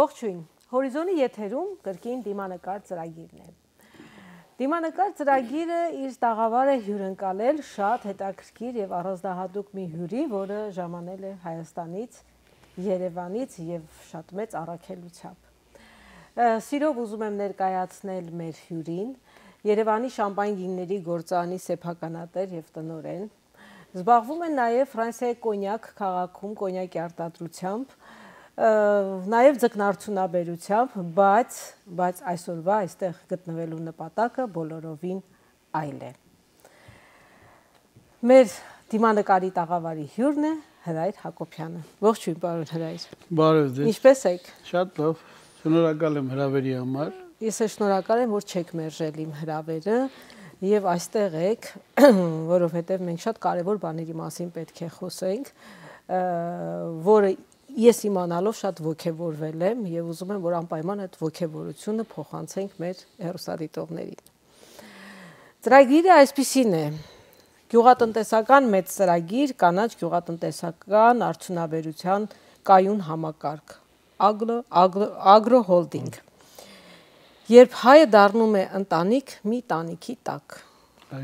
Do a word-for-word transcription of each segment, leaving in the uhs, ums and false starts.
Ողջույն, Հորիզոնի եթերում կրկին դիմանկար ծրագիրն է։ Դիմանկար ծրագիրը իր տաղավար է հյուրընկալել շատ հետաքրքիր եւ առանձնահատուկ մի հյուրի, որը ժամանել է Հայաստանից, Երևանից եւ շատ մեծ առաքելությամբ։ Սիրով ուզում եմ ներկայացնել մեր հյուրին, Երևանի շամպայն գինների գործարանի սեփականատեր եւ տնօրեն։ Զբաղվում են նաեւ Ֆրանսիայի Կոնյակ քաղաքում կոնյակի արտադրությամբ, նաև ձկնարդյունաբերությամբ, բայց բայց այսօրվա այստեղ գտնվելու նպատակը բոլորովին այլ է։ Մեր դիմանկարի տաղավարի հյուրն է Հրայր Հակոբյանը։ Ողջույն, պարոն Հրայր։ Բարև ձեզ։ Ինչպե՞ս եք։ Շատ լավ։ Շնորհակալ եմ հրավերի համար։ Ես էլ շնորհակալ եմ, որ չեք մերժել իմ հրավերը եւ այստեղ եք, որովհետեւ մենք շատ կարեւոր բաների մասին պետք է խոսենք, որը ես իմանալով շատ ոգևորվել եմ եւ ուզում եմ, որ անպայման այդ ոգևորությունը փոխանցենք մեր հեռուստադիտողներին։ Ծրագիրը այսպիսին է. գյուղատնտեսական մեծ ծրագիր, կանաչ գյուղատնտեսական արդյունաբերության կայուն համակարգ, ագրո հոլդինգ։ Երբ հայը դառնում է ընտանիք, մի տանիքի տակ,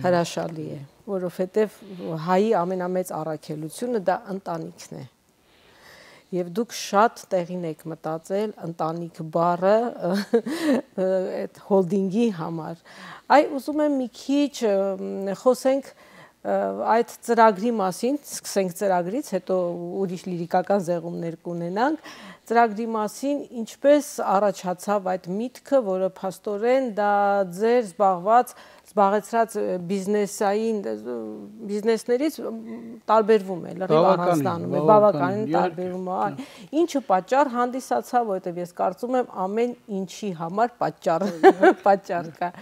հրաշալի է, որովհետեւ հայի ամենամեծ առաքելությունը դա ընտանիքն է։ Եվ դուք շատ տեղին եք մտածել ընտանիք բառը այդ հոլդինգի համար։ Այ ուզում եմ մի քիչ խոսենք այդ ծրագրի մասին, սկսենք ծրագրից, հետո ուրիշ լիրիկական զեղումներ կունենանք, ծրագրի մասին ինչպես առաջացավ այդ միտքը, որը փաստորեն դա ձեր զբաղված զբաղեցրած բիզնեսային բիզնեսներից տարբերվում է, լրիվ առանձնանում է, բավականին տարբերվում է։ Ինչը պատճառ հանդիսացավ, որովհետև ես կարծում եմ ամեն ինչի համար պատճառ պատճառ կա։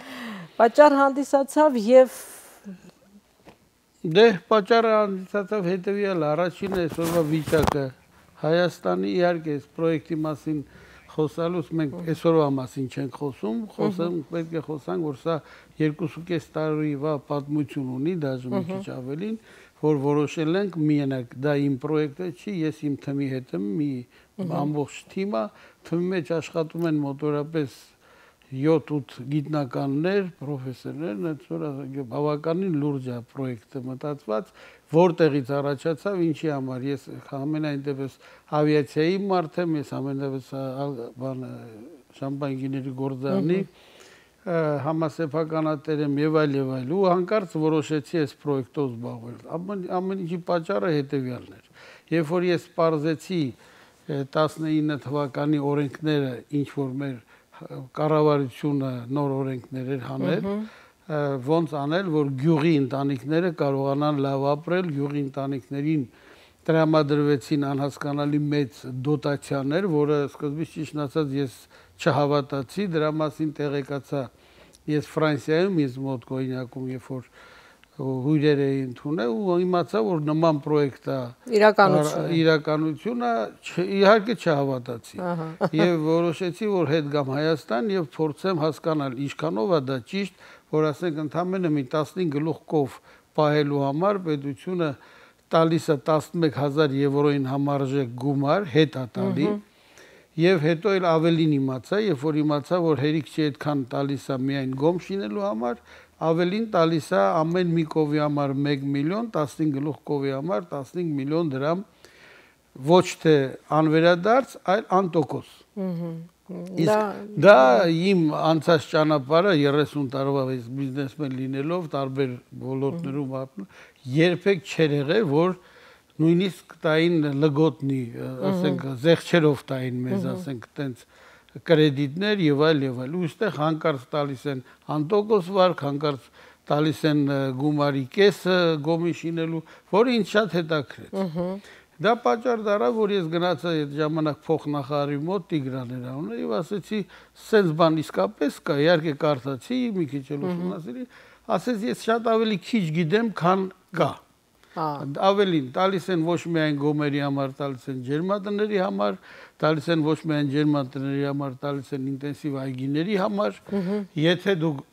Պատճառ հանդիսացավ եւ դե պատճառը հանդիսացավ հետեւյալը, առաջինը այսօրվա վիճակը Հայաստանի, իհարկե այս պրոյեկտի մասին խոսալուց մենք այսօրվա մասին չենք խոսում, խոսենք պետք է խոսանք, որ սա երկուսուկես տարվա պատմություն ունի, դաժե մի քիչ ավելին, որ որոշել ենք միանալ, դա իմ պրոյեկտը չի, ես իմ թմի հետ եմ, մի ամբողջ թիմը, թմի մեջ աշխատում են մոտորապես յոթ-ութ գիտնականներ, պրոֆեսորներ, այդ բավականին լուրջ է պրոյեկտը մտածված, որտեղից առաջացավ, ինչի համար, ես ամենայն դեպս ավիացիայի մարդ եմ, ես ամեն դեպս շամպայն գիների գործարանի համասեփականատեր եմ եւ այլ եւ այլ, ու հանկարծ որոշեցի այս պրոյեկտով զբաղվել։ Ամեն ինչի պատճառը հետեւյալն էր։ Երբ որ ես պարզեցի տասնինը թվականի օրենքները, ինչ որ մեր կառավարությունը նոր օրենքներ էր հանել, ոնց անել, որ գյուղի ընտանիքները կարողանան լավ ապրել, գյուղի ընտանիքներին տրամադրվեցին անհասկանալի մեծ դոտացիաներ, որը սկզբից ճիշտ ասած ես չհավատացի, դրա մասին տեղեկացա ես Ֆրանսիայում, ես մոտ Կոնյակում, երբ որ հյուրեր էի ընդունել ու իմացա, որ նման պրոյեկտ է իրականությունը, իհարկե չհավատացի։ Եվ որոշեցի, որ հետ գամ Հայաստան եւ փորձեմ հասկանալ ինչքանով է դա ճիշտ, որ ասենք ընդամենը մի տասնինը գլուխ կով պահելու համար պետությունը տալիս է տասնմեկ հազար եվրոյին համարժեք գումար, հետ է տալի, եւ հետո էլ ավելին իմացա, երբ որ իմացա, որ հերիք չի այդքան տալիս է միայն գոմ շինելու համար, ավելին տալիս է ամեն մի կովի համար մեկ միլիոն, տասնինը գլուխ կովի համար տասնինը միլիոն դրամ, ոչ թե անվերադարձ, այլ անտոկոս։ Իսկ դա իմ անցած ճանապարհը երեսուն տարվա բիզնեսմեն լինելով տարբեր ոլորտներում երբեք չէր եղել, որ նույնիսկ տային լգոտնի, ասենք զեղչերով տային մեզ, ասենք տենց կրեդիտներ եւ այլ եւ այլ։ Ու այստեղ հանկարծ տալիս են անտոկոս վարկ, հանկարծ տալիս են գումարի կեսը գոմի շինելու, որը ինձ շատ հետաքրքրեց։ Դա պատճառ դառավ, որ ես գնացա այդ ժամանակ փոխնախարարի մոտ Տիգրան Էրոնը եւ ասեցի, «Սենց բան իսկապես կա», իհարկե կարծացի, մի քիչ էլ ուսումնասիրի, ասեց, «Ես շատ ավելի քիչ գիտեմ, քան կա»։ Ավելին, տալիս են ոչ միայն գոմերի համար, տալիս են ջերմատների համար, տալիս են ոչ միայն ջերմատների համար, տալիս են ինտենսիվ այգիների համար, եթե դուք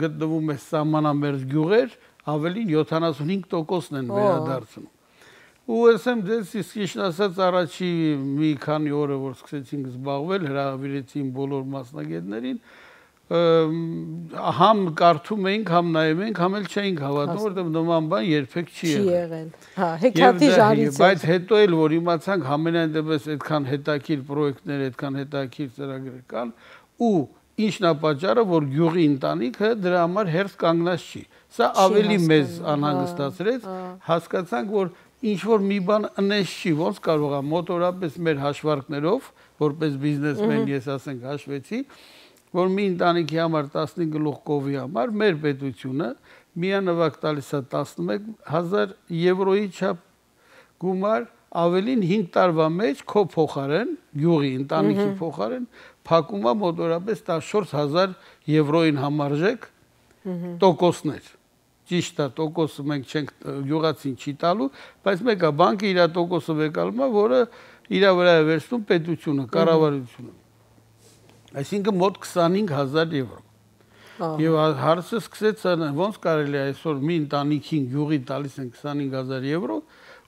գտնվում եք սահմանամերձ գյուղեր, ավելին յոթանասունհինգ տոկոսն են վերադարձնում։ ու ասեմ դες իսկ ճիշտ ասած առաջի մի քանի օրը որ սկսեցինք զբաղվել, հրավիրեցին բոլոր մասնագետներին, համ կարդում էինք, համ նայում էինք, համ էլ չէինք հավատում, որտեղ նման բան երբեք չի եղել։ Հա, հեքիաթի ժանից է։ Բայց հետո էլ որ իմացանք համենայն դեպս այդքան հետաքրքիր պրոյեկտներ, այդքան հետաքրքիր ծրագրեր կան, ու ինչն է պատճառը, որ գյուղի ընտանիքը դրա համար հերթ կանգնած չի։ Սա ավելի մեծ անհանգստացրեց, հասկացանք, որ ինչ որ մի բան ընես չի, ոնց կարող է մոտորապես մեր հաշվարկներով, որպես բիզնեսմեն ես ասենք հաշվեցի, որ մի ընտանիքի համար տասնհինգ գլուխ կովի համար մեր պետությունը միանվագ տալիս է տասնմեկ հազար եվրոյի չափ գումար, ավելին հինգ տարվա մեջ քո փոխարեն, գյուղի ընտանիքի փոխարեն փակում է մոտորապես տասնչորս հազար եվրոյին համարժեք տոկոսներ։ Ճիշտ է, տոկոսը մենք չենք գյուղացին չի տալու, բայց մեկը բանկը իր տոկոսը վեկալում է, որը իր վրա է վերցնում պետությունը, կառավարությունը։ Այսինքն մոտ քսանհինգ հազար եվրո։ Եվ հարցը սկսեց ոնց կարելի է այսօր մի ընտանիքին գյուղի տալիս են քսանհինգ հազար եվրո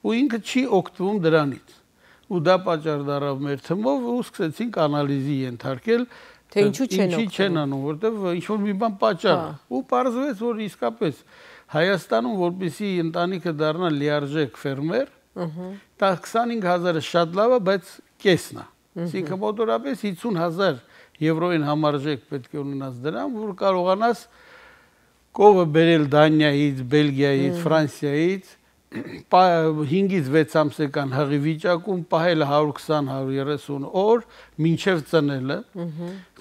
ու ինքը չի օգտվում դրանից։ Ու դա պատճառ դառավ մեր թմով ու սկսեցինք անալիզի ենթարկել, թե ինչու չեն օգտվում, չեն անում, որտեղ ինչ որ մի բան պատճառ է։ Ու պարզվեց, որ իսկապես Հայաստանում որպեսզի ընտանիքը դառնա լիարժեք ֆերմեր, դա քսանհինգ հազարը շատ լավ է, բայց կեսն է։ Այսինքն մոտորապես հիսուն հազար եվրոյին համարժեք պետք է ունենաս դրան, որ կարողանաս կովը բերել Դանիայից, Բելգիայից, Ֆրանսիայից, հինգից վեց ամսական հղի վիճակում պահել հարյուր քսան հարյուր երեսուն օր, մինչև ծնելը,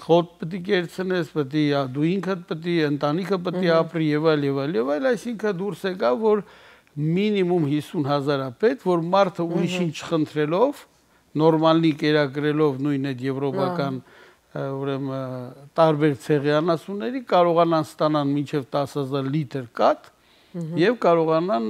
խոտ պետք է կերցնես, պետք է դու ինքդ պետք է, ընտանիքը պետք է ապրի եւ այլ եւ այլ եւ այլ, այսինքն դուրս եկավ, որ մինիմում հիսուն հազար է պետք, որ մարդը ուրիշին չխնդրելով, նորմալնի կերակրելով նույն այդ եվրոպական ուրեմն տարբեր ցեղի անասունների կարողանան ստանան մինչև տասը հազար լիտր կաթ եւ կարողանան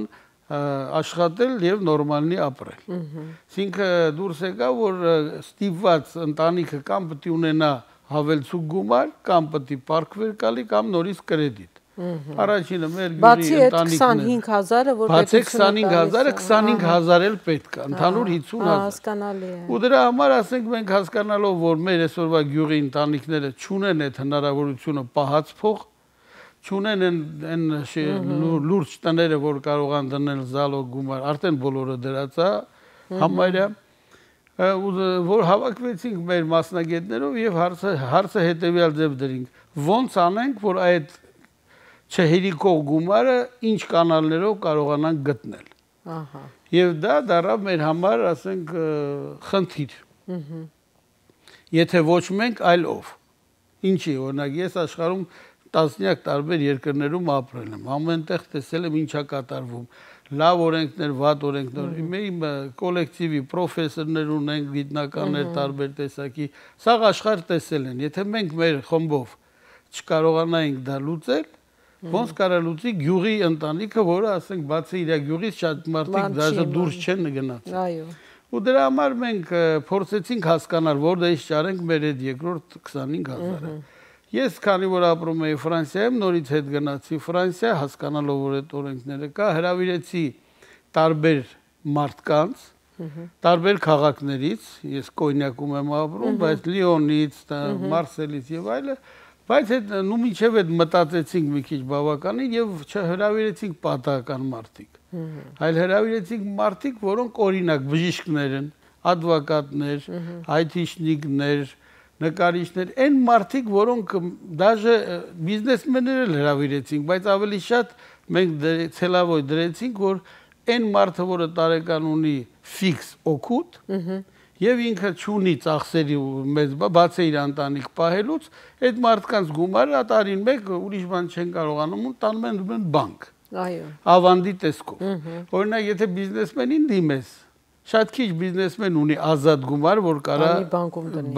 աշխատել եւ նորմալնի ապրել։ Այսինքն դուրս եկա, որ ստիպված ընտանիքը կամ պետք է ունենա հավելցուկ գումար, կամ պետք է պարտվեր գալի, կամ նորից կրեդիտ։ Առաջինը մեր գյուղի ընտանիքն է։ Բացի քսանհինգ հազարը, որ բացի քսանհինգ հազարը, քսանհինգ հազար էլ պետք է, ընդհանուր հիսուն հազար։ Հասկանալի է։ Ու դրա համար ասենք մենք հասկանալով, որ մեր այսօրվա գյուղի ընտանիքները չունեն այդ հնարավորությունը պահած փող, չունեն այն լուրջ տները, որ կարող են դնել զալոգ գումար, արդեն բոլորը դրած է համարյա, որ հավաքվեցինք մեր մասնագետներով եւ հարցը հարցը հետեւյալ ձև դրինք. ոնց անենք, որ այդ չհերիկող գումարը ինչ կանալներով կարողանանք գտնել։ Ահա։ Եվ դա դառավ մեր համար, ասենք, խնդիր։ Եթե ոչ մենք, այլ ով։ Ինչի, օրինակ, ես աշխարհում տասնյակ տարբեր երկրներում ապրել եմ, ամենտեղ տեսել եմ ինչա կատարվում, լավ օրենքներ, վատ օրենքներ, իմ կոլեկտիվի պրոֆեսորներ ունենք, գիտնականներ տարբեր տեսակի, սա աշխարհ տեսել են, եթե մենք մեր խմբով չկարողանայինք դա լուծել, ոնց կարա լուծի գյուղի ընտանիքը, որը ասենք բացի իր գյուղից շատ մարդիկ դաժե դուրս չեն գնացել։ Այո։ Ու դրա համար մենք փորձեցինք հասկանալ, որտեղ ճարենք մեր այդ երկրորդ քսանհինգ հազարը։ Ես քանի որ ապրում էի Ֆրանսիայում, նորից հետ գնացի Ֆրանսիա, հասկանալով որ այդ օրենքները կա, հրավիրեցի տարբեր մարդկանց, տարբեր քաղաքներից, ես Կոնյակում եմ ապրում, բայց Լիոնից, Մարսելից եւ այլը, բայց այդ նու միջև այդ մտածեցինք մի քիչ բավականին եւ չհրավիրեցինք պատահական մարդիկ, այլ հրավիրեցինք մարդիկ, որոնք օրինակ բժիշկներ են, ադվոկատներ, այթիշնիկներ, նկարիչներ, այն մարդիկ, որոնք դաժե բիզնեսմեններ էլ հրավիրեցինք, բայց ավելի շատ մենք ցելավոյ դրեցինք, որ այն մարդը, որը տարեկան ունի ֆիքս օգուտ, եւ ինքը չունի ծախսերի մեծ բացի իր ընտանիք պահելուց, այդ մարդկանց գումարը տարին մեկ ուրիշ բան չեն կարողանում ու տանում են բանկ։ Այո։ Ավանդի տեսքով։ Օրինակ, եթե բիզնեսմենին դիմես, շատ քիչ բիզնեսմեն ունի ազատ գումար, որ կարա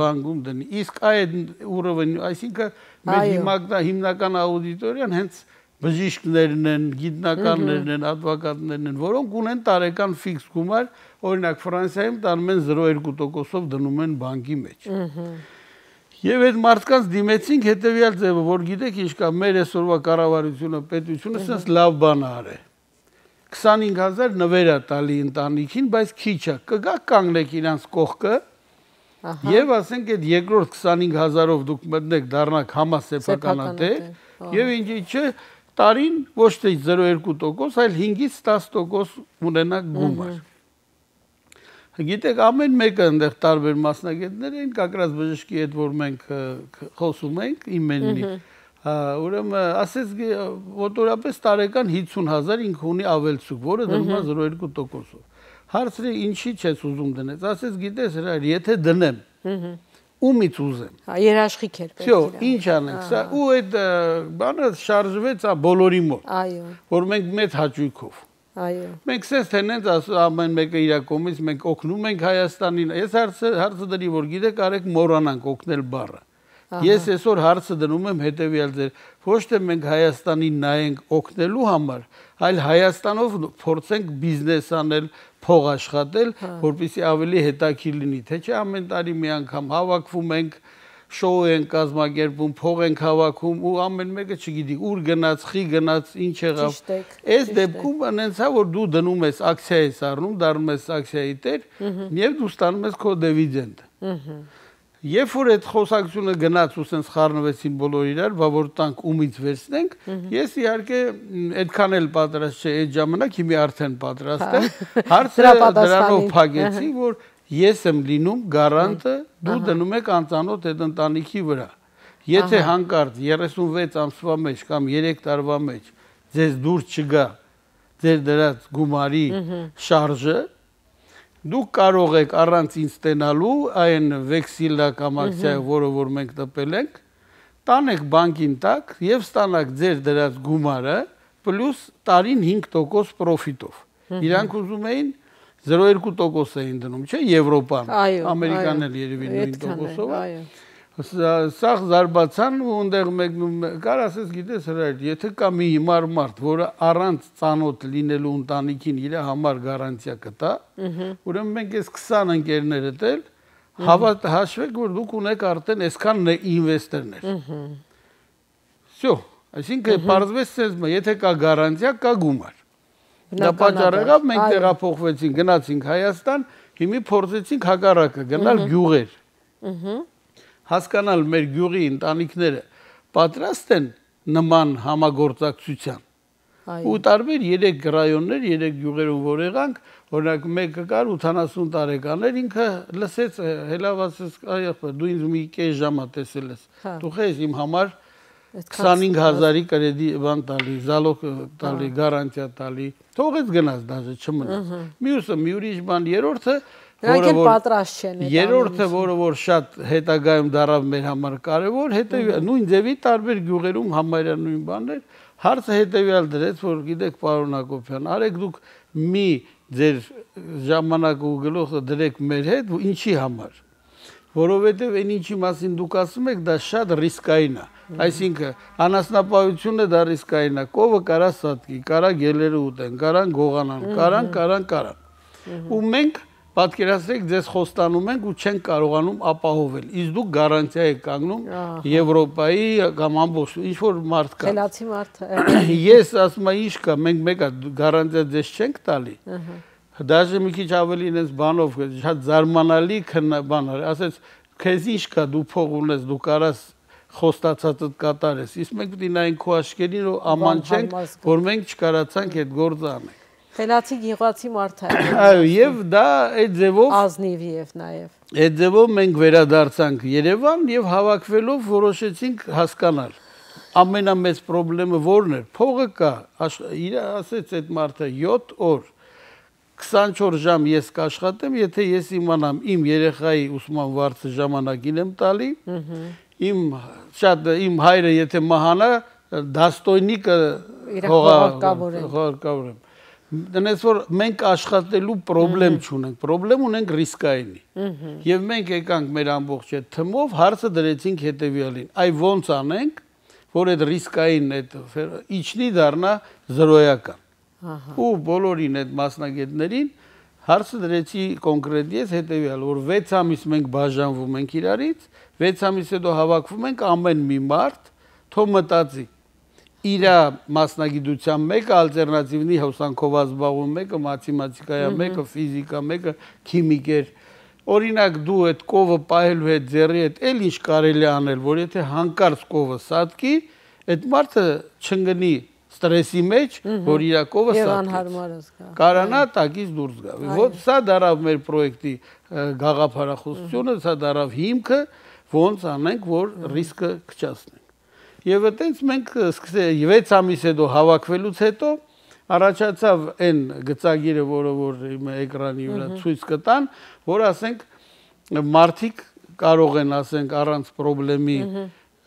բանկում դնի։ Իսկ այդ ուրովն, այսինքն մեր հիմնական աուդիտորիան հենց բժիշկներն են, գիտնականներն են, ադվոկատներն են, որոնք ունեն տարեկան ֆիքս գումար, օրինակ Ֆրանսիայում տանում են զրո երկու տոկոսով դնում են բանկի մեջ։ Եվ այդ մարդկանց դիմեցինք հետեւյալ ձևը, որ գիտեք ինչ կա, մեր այսօրվա կառավարությունը, պետությունը sense լավ բան արե։ քսանհինգ հազար նվեր է տալի ընտանիքին, բայց քիչ է։ Կգա կանգնեք իրանց կողքը եւ ասենք այդ երկրորդ քսանհինգ հազարով դուք մտնեք դառնաք համասեփականատեր եւ ինչի՞ չէ տարին ոչ թե զրո կόμμα երկու տոկոս, այլ հինգից տաս տոկոս ունենաք գումար։ Գիտեք, ամեն մեկը այնտեղ տարբեր մասնագետներ են, կակրած բժշկի հետ որ մենք խոսում ենք, իմեննի, ուրեմն ասես մոտորապես տարեկան հիսուն հազար ինքը ունի ավելցուկ, որը դնում է զրո կόμma երկու տոկոսով։ Հարցրի ինչի՞ չես ուզում դնես, ասես գիտես հրայր, եթե դնեմ, ումից ուզեմ։ Հա, երաշխիք էր պետք։ Всё, ինչ անենք, սա ու այդ բանը շարժվեց բոլորի մոտ։ Այո։ Որ մենք մեծ հաճույքով։ Այո։ Մենք սենց թենենց ասում ամեն մեկը իր կողմից մենք օգնում ենք Հայաստանին։ Ես հարցը հարցը դրի որ գիտեք արեք մոռանանք օգնել բառը։ Ես այսօր հարցը դնում եմ հետեւյալ ձեր ոչ թե մենք Հայաստանին նայենք օգնելու համար, այլ Հայաստանով փորձենք բիզնես անել, փող աշխատել, որպեսզի ավելի հետաքրքիր լինի, թե չէ ամեն տարի մի անգամ հավաքվում ենք, շոու են կազմակերպում, փող են հավաքում ու ամեն մեկը չգիտի ուր գնաց, խի գնաց, ինչ եղավ։ Այս դեպքում անենց է որ դու դնում ես ակցիա ես առնում, դառնում ես ակցիայի տեր եւ դու ստանում ես քո դիվիդենդը։ Երբ որ այդ խոսակցությունը գնաց ու սենց խառնվեցին բոլոր իրար, բա որ տանք ումից վերցնենք, ես իհարկե այդքան էլ պատրաստ չէ այդ ժամանակ, հիմա արդեն պատրաստ եմ։ Հարցը դրանով փակեցի, որ ես եմ լինում գարանտը, դու դնում եք անծանոթ այդ ընտանիքի վրա։ Եթե հանկարծ երեսունվեց ամսվա մեջ կամ երեք տարվա մեջ ձեզ դուրս չգա ձեր դրած գումարի շարժը, դուք կարող եք առանց ինձ ստենալու այն վեքսիլը կամ ակցիայը, որը որ մենք տպել ենք, տանեք բանկին տակ եւ ստանաք ձեր դրած գումարը պլյուս տարին հինգ տոկոս պրոֆիտով։ Իրանք ուզում էին զրո կόμma երկու տոկոս էին դնում, չէ՞, Եվրոպան, Ամերիկան էլ երևի նույն տոկոսով է։ Սա զարբացան ու այնտեղ մեկնում կար ասես գիտես հրայր, եթե կա մի հիմար մարդ, որը առանց ծանոթ լինելու ընտանիքին իր համար գարանտիա կտա, ուրեմն մենք այս քսան ընկերներդ էլ հավատ հաշվեք, որ դուք ունեք արդեն այսքան ինվեստորներ։ Всё, այսինքն բարձվեց ցեզ, եթե կա գարանտիա, կա գումար։ Դա պատճառ եղավ, մենք տեղափոխվեցինք, գնացինք Հայաստան, հիմա փորձեցինք հակառակը գնալ գյուղեր։ Հասկանալ մեր գյուղի ընտանիքները պատրաստ են նման համագործակցության։ Ու տարբեր երեք ռայոններ, երեք գյուղերում որ եղանք, օրինակ մեկը կար ութանասուն տարեկան էր, ինքը լսեց հելավացես, այ դու ինձ մի կես ժամա տեսել ես։ Դու խես իմ համար քսանհինգ հազարի կրեդի բան տալի, զալոգ տալի, գարանտիա տալի, թողեց գնաց դաժե չմնաց։ Մյուսը մի ուրիշ բան, երրորդը Նրանք էլ պատրաստ չեն։ Երրորդը, որը որ շատ հետագայում դարավ մեր համար կարևոր, հետեւյալ նույն ձևի տարբեր գյուղերում համարյա նույն բաներ, հարցը հետեւյալ դրեց, որ գիտեք պարոն Հակոբյան, արեք դուք մի ձեր ժամանակ ու գլուխը դրեք մեր հետ, ու ինչի համար։ Որովհետև այն ինչի մասին դուք ասում եք, դա շատ ռիսկային է։ Այսինքն անասնապահությունը դա ռիսկային է։ Կովը կարա սատկի, կարա գելերը ուտեն, կարան գողանան, կարան, կարան, կարան։ Ու մենք պատկերացրեք ձեզ խոստանում ենք ու չենք կարողանում ապահովել։ Իսկ դուք գարանտիա եք կանգնում Եվրոպայի կամ ամբողջ ինչ որ մարդ կա։ Խելացի մարդ։ Ես ասում եմ ինչ կա, մենք մեկը գարանտիա ձեզ չենք տալի։ Դաժե մի քիչ ավելի ինձ բանով շատ զարմանալի բան էր, ասեց քեզ ինչ կա, դու փող ունես, դու կարաս խոստացածդ կատարես։ Իսկ մենք պետք է նայենք քո աչքերին ու աման չենք, որ մենք չկարացանք այդ գործը անենք։ Խելացի գյուղացի մարդ է։ Այո, եւ դա այդ ձևով ազնիվ եւ նաեւ։ Այդ ձևով մենք վերադարձանք Երևան եւ հավաքվելով որոշեցինք հասկանալ։ Ամենամեծ խնդրեմը ո՞րն էր։ Փողը կա, իր ասեց այդ մարդը յոթ օր քսանչորս ժամ ես կաշխատեմ, եթե ես իմանամ իմ երեխայի ուսման վարձը ժամանակին եմ տալի, իմ շատ իմ հայրը եթե մահանա, դաստոյնիկը հողարկավորեմ։ Դնես որ մենք աշխատելու խնդրեմ չունենք, խնդրեմ ունենք ռիսկայինի։ Եվ մենք եկանք մեր ամբողջ այդ թմով հարցը դրեցինք հետևյալին. այ ոնց անենք, որ այդ ռիսկային այդ իջնի դառնա զրոյական։ Ու բոլորին այդ մասնագետներին հարցը դրեցի կոնկրետ ես հետևյալ, որ վեց ամիս մենք բաժանվում ենք իրարից, վեց ամիս հետո հավաքվում ենք ամեն մի մարդ թող մտածի։ իր մասնագիտության մեկը ալտերնատիվնի հոսանքով զբաղվում, մեկը մաթեմատիկա է, մեկը ֆիզիկա, մեկը քիմիկ էր։ Օրինակ դու այդ կովը պահելու հետ ձեռի հետ էլ ինչ կարելի անել, որ եթե հանկարծ կովը սատկի, այդ մարդը չընկնի ստրեսի մեջ, որ իր կովը սատկի։ Կարանա տակից դուրս գա։ Ոչ սա դարավ մեր պրոյեկտի գաղափարախոսությունը, սա դարավ հիմքը, ոնց անենք, որ ռիսկը կչացնենք։ Եվ այդպես մենք վեց ամիս հետո հավաքվելուց հետո առաջացավ այն գծագիրը, որը որ իմ էկրանի վրա ցույց կտան, որ ասենք մարդիկ կարող են ասենք առանց խնդրի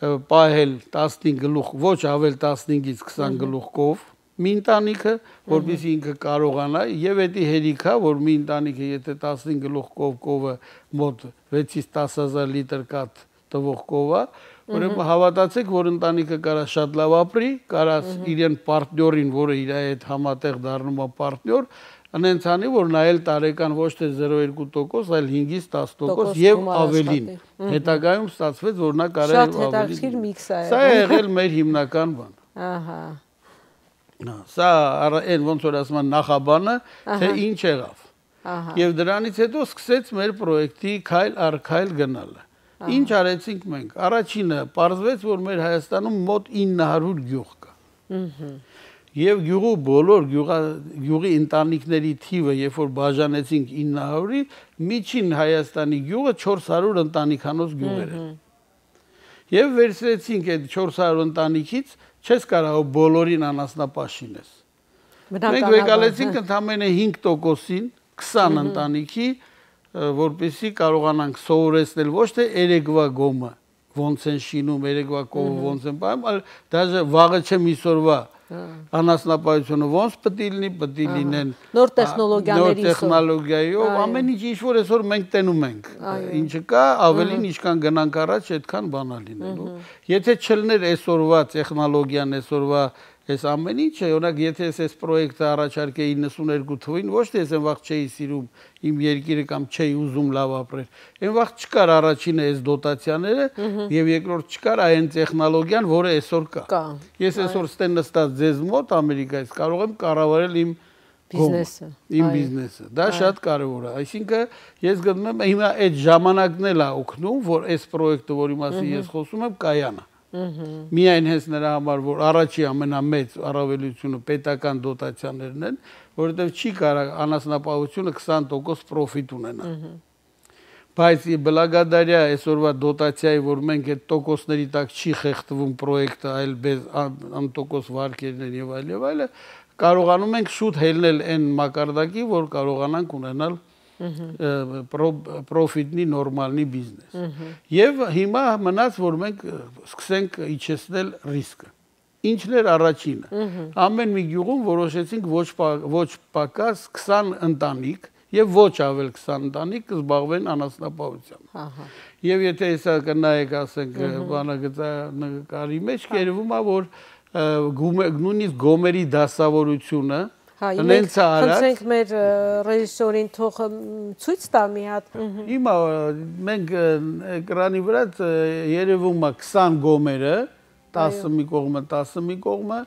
պահել տասնհինգ գլուխ, ոչ ավել տասնհինգից քսան գլուխ կով մի ընտանիքը, որպեսզի ինքը կարողանա եւ էդի հերիքա, որ մի ընտանիքը եթե տասնհինգ գլուխ կով կովը մոտ վեցից տասը հազար լիտր կաթ տվող կով է, ուրեմն հավատացեք, որ ընտանիքը կարա շատ լավ ապրի, կարա իրեն պարտներին, որը իր հետ համատեղ դառնում է պարտներ, անենց անի, որ նայել տարեկան ոչ թե զրո երկու տոկոս, այլ հինգից տասը տոկոս եւ ավելին։ Հետագայում ստացվեց, որ նա կարա եւ ավելին։ Շատ հետաքրքիր միքս է։ Սա է եղել մեր հիմնական բան։ Ահա։ Սա այն ոնց որ ասում են նախաբանը, թե ինչ եղավ։ Եվ դրանից հետո սկսեց մեր պրոյեկտի քայլ առ քայլ գնալը։ Ինչ արեցինք մենք։ Առաջինը պարզվեց, որ մեր Հայաստանում մոտ ինը հարյուր գյուղ կա։ Եվ գյուղու բոլոր գյուղի ընտանիքների թիվը, երբ որ բաժանեցինք ինը հարյուրի, միջին Հայաստանի գյուղը չորս հարյուր ընտանիքանոց գյուղեր են։ Եվ վերցրեցինք այդ չորս հարյուր ընտանիքից, չես կարող բոլորին անասնապաշինես։ Մենք վեկալեցինք ընդամենը հինգ տոկոսին քսան ընտանիքի, որպեսզի կարողանանք սովորեցնել ոչ թե երեկվա գոմը ոնց են շինում, երեկվա կովը ոնց են պահում, այլ դաժե վաղը չեմ իսօրվա անասնապահությունը ոնց պետք է լինի, պետք է լինեն նոր տեխնոլոգիաների նոր տեխնոլոգիայով, ամեն ինչ ինչ որ այսօր մենք տենում ենք, ինչը կա, ավելին ինչքան գնանք առաջ, այդքան բան է լինելու։ Եթե չլներ այսօրվա տեխնոլոգիան, այսօրվա Այս ամեն ինչը, օրինակ, եթե ես այս պրոյեկտը առաջարկեի իննսուներկու թվին, ոչ թե ես այն վաղ չէի սիրում իմ երկիրը կամ չէի ուզում լավ ապրել։ Այն վաղ չկար առաջինը այս դոտացիաները եւ երկրորդ չկար այն տեխնոլոգիան, որը այսօր կա։ Ես այսօր ստեն նստած ձեզ մոտ Ամերիկայից կարող եմ կառավարել իմ բիզնեսը, իմ բիզնեսը։ Դա շատ կարևոր է։ Այսինքն ես գտնում եմ հիմա այդ ժամանակն էլ է օգնում, որ այս պրոյեկտը, որի մասին ես խոսում եմ, կայանա։ Միայն հենց նրա համար, որ առաջի ամենամեծ առավելությունը պետական դոտացիաներն են, որովհետև չի կարող անասնապահությունը քսան տոկոս պրոֆիտ ունենա։ Բայց բլագադարյա այսօրվա դոտացիայի, որ մենք այդ տոկոսների տակ չի խեղդվում պրոյեկտը, այլ անտոկոս վարկերներ եւ այլ եւ այլը, կարողանում ենք շուտ հելնել այն մակարդակի, որ կարողանանք ունենալ պրոֆիտնի նորմալնի բիզնես։ Եվ հիմա մնաց, որ մենք սկսենք իջեցնել ռիսկը։ Ինչն էր առաջինը։ Ամեն մի գյուղում որոշեցինք ոչ պակաս քսան ընտանիք եւ ոչ ավել քսան ընտանիք կզբաղվեն անասնապահությամբ։ Եւ եթե հեսա կնայեք, ասենք, բանագծանկարի մեջ կերվում է, որ նույնիսկ գոմերի դասավորությունը Հա, մենք խնդրենք մեր ռեժիսորին թող ցույց տա մի հատ։ Հիմա մենք էկրանի վրա երևում է քսան գոմերը, տասը մի կողմը, տասը մի կողմը,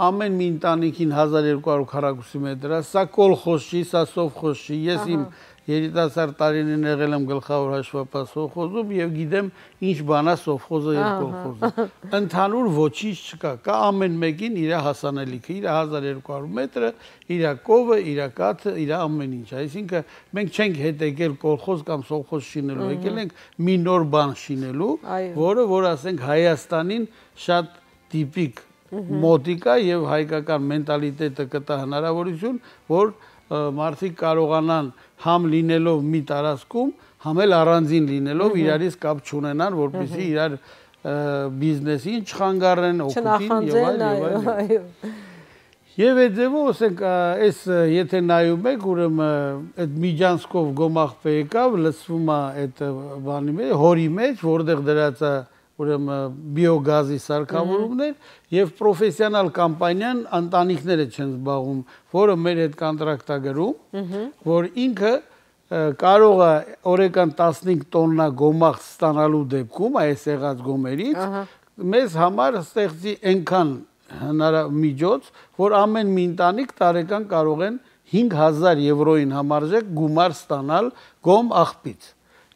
ամեն մի ընտանիքին հազար երկու հարյուր քառակուսի մետր է, սա կոլխոզ չի, սա սովխոզ չի։ Ես իմ երիտասարդ տարիներին եղել եմ գլխավոր հաշվապահ սովխոզում եւ գիտեմ ինչ բան է սովխոզը եւ կոլխոզը։ Ընդհանուր ոչինչ չկա, կա ամեն մեկին իր հասանելիքը, իր հազար երկու հարյուր մետրը, իր կովը, իր կաթը, իր ամեն ինչ։ Այսինքն մենք չենք հետ եկել կոլխոզ կամ սովխոզ շինելու, եկել ենք մի նոր բան շինելու, որը որ ասենք Հայաստանին շատ տիպիկ մոտիկա եւ հայկական մենտալիտետը կտա հնարավորություն, որ մարդիկ կարողանան համ լինելով մի տարածքում, համ էլ առանձին լինելով իրարից կապ չունենան, որպեսզի իրար բիզնեսին չխանգարեն, օգուտին եւ այլ եւ այլ։ Եվ այդ ձևով, ասենք, այս եթե նայում եք, ուրեմն այդ Միջանցկով գոմաղբե եկավ, լցվում է այդ բանի մեջ, հորի մեջ, որտեղ դրած է ուրեմն բիոգազի սարքավորումներ եւ պրոֆեսիոնալ կամպանիան ընտանիքները չեն զբաղվում, որը մեր հետ կոնտրակտ է գրում, որ ինքը կարող է օրական տասնհինգ տոննա գոմաղ ստանալու դեպքում այս եղած գոմերից մեզ համար ստեղծի այնքան միջոց, որ ամեն մի ընտանիք տարեկան կարող են հինգ հազար եվրոյին համարժեք գումար ստանալ գոմ աղբից։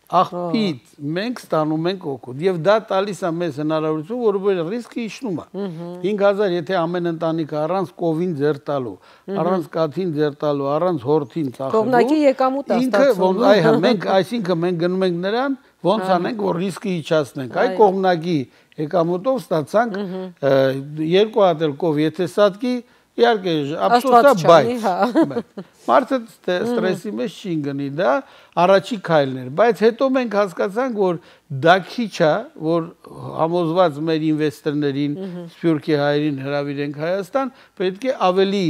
Աղբից մենք ստանում ենք օգուտ եւ դա տալիս է մեզ հնարավորություն, որովհետեւ ռիսկը իջնում է։ հինգ հազար եթե ամեն ընտանիքը առանց կովին ձեր տալու, առանց կաթին ձեր տալու, առանց հորթին ծախելու, կողմնակի եկամուտ է ստացվում։ Այո, մենք այսինքն մենք գնում ենք նրան, ոնց անենք, որ ռիսկը իջացնենք։ Այ կողմնակի եկամուտով ստացանք երկու հատ էլ կով, եթե սատկի իհարկե ափսոսա, բայց մարդը ստրեսի մեջ չի գնի, դա առաջի քայլն էր, բայց հետո մենք հասկացանք, որ դա քիչ է, որ համոզված մեր ինվեստորներին, սփյուռքի հայերին հրավիրենք Հայաստան, պետք է ավելի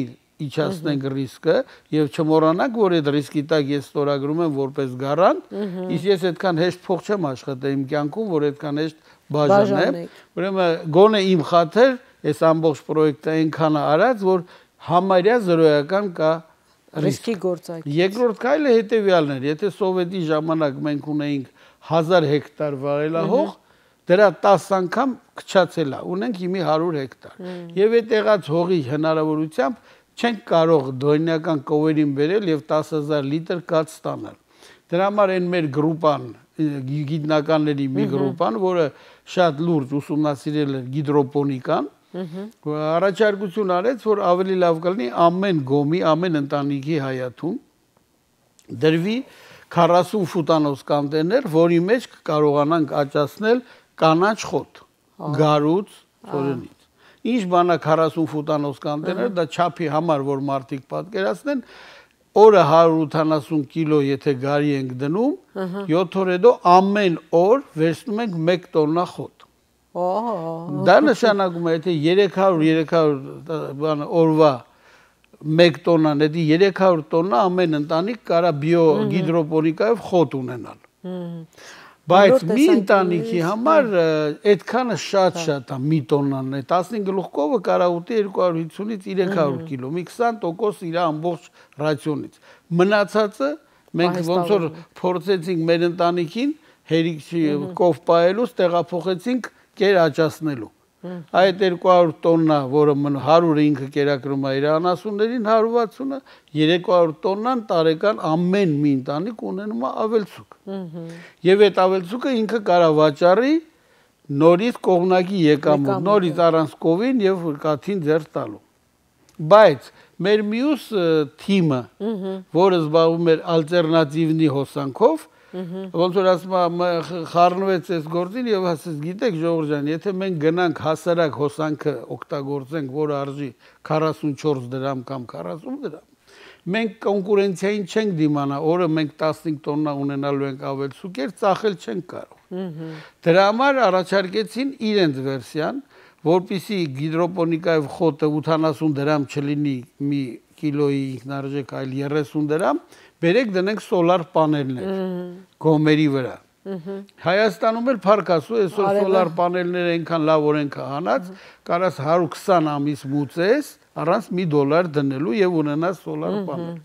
իջացնենք ռիսկը եւ չմոռանանք, որ այդ ռիսկի տակ ես ստորագրում եմ որպես գարանտ, իսկ ես այդքան հեշտ փող չեմ աշխատել իմ կյանքում, որ այդքան հեշտ բաժանեմ։ Ուրեմն գոնե իմ խաթր այս ամբողջ պրոյեկտը այնքան արած, որ համարյա զրոյական կա ռիսկի գործակի։ Երկրորդ քայլը հետեւյալն էր, եթե սովետի ժամանակ մենք ունեինք հազար հեկտար վարելահող, դրա տասը անգամ քչացել է, ունենք հիմի հարյուր հեկտար։ Եվ այդ եղած հողի հնարավորությամբ չենք կարող դոնյական կովերին բերել եւ տասը հազար լիտր կաթ ստանալ։ Դրա համար այն մեր գրուպան, գիտնականների մի գրուպան, որը շատ լուրջ ուսումնասիրել է գիդրոպոնիկան, առաջարկություն արեց, որ ավելի լավ կլինի ամեն գոմի, ամեն ընտանիքի հայաթում դրվի քառասուն ֆուտանոց կոնտեյներ, որի մեջ կարողանանք աճացնել կանաչ խոտ, գարուց, ծորենից։ Ինչ բանա քառասուն ֆուտանոց կոնտեյներ, դա չափի համար, որ մարդիկ պատկերացնեն, օրը հարյուր ութանասուն կիլո եթե գարի ենք դնում, յոթ օր հետո ամեն օր վերցնում ենք մեկ տոննա խոտ։ Դա նշանակում է, եթե երեք հարյուր երեք հարյուր օրվա մեկ տոննան, դա երեք հարյուր տոննա ամեն ընտանիք կարա բիո գիդրոպոնիկայով խոտ ունենալ։ Բայց մի ընտանիքի համար այդքանը շատ-շատ է մի տոննան է, տասնհինգ գլուխ կովը կարա ուտի երկու հարյուր հիսունից երեք հարյուր կիլո, մի քսան տոկոս իր ամբողջ ռացիոնից։ Մնացածը մենք ոնց որ փորձեցինք մեր ընտանիքին հերիքի կով պահելուց տեղափոխեցինք կեր աճացնելու։ Այդ երկու հարյուր տոննա, որը հարյուրը ինքը կերակրում է իր անասուններին, հարյուր վաթսունը, երեք հարյուր տոննան տարեկան ամեն մի ընտանիք ունենում է ավելցուկ։ Եվ այդ ավելցուկը ինքը կարա վաճառի նորից կողմնակի եկամուտ, նորից առանց կովին եւ կաթին ձեռ տալու։ Բայց մեր մյուս թիմը, որը զբաղվում էր ալտերնատիվնի հոսանքով, ոնց որ ասում խառնվեց այս գործին եւ ասեց, գիտեք Ժողովուրդ ջան, եթե մենք գնանք հասարակ հոսանքը օգտագործենք, որը արժի քառասունչորս դրամ կամ քառասուն դրամ, մենք կոնկուրենցիային չենք դիմանա, օրը մենք տասնհինգ տոննա ունենալու ենք ավելցուկեր, ծախել չենք կարող։ Դրա համար առաջարկեցին իրենց վերսիան, որպեսզի գիդրոպոնիկայով խոտը ութանասուն դրամ չլինի մի կիլոյի ինքնարժեք, այլ երեսուն դրամ, բերեք դնենք սոլար պանելներ գոմերի վրա։ Հայաստանում էլ փառքասու այսօր սոլար պանելները այնքան լավ օրենք հանած, կարաս հարյուր քսան ամիս մուծես առանց մի դոլար դնելու եւ ունենաս սոլար պանել։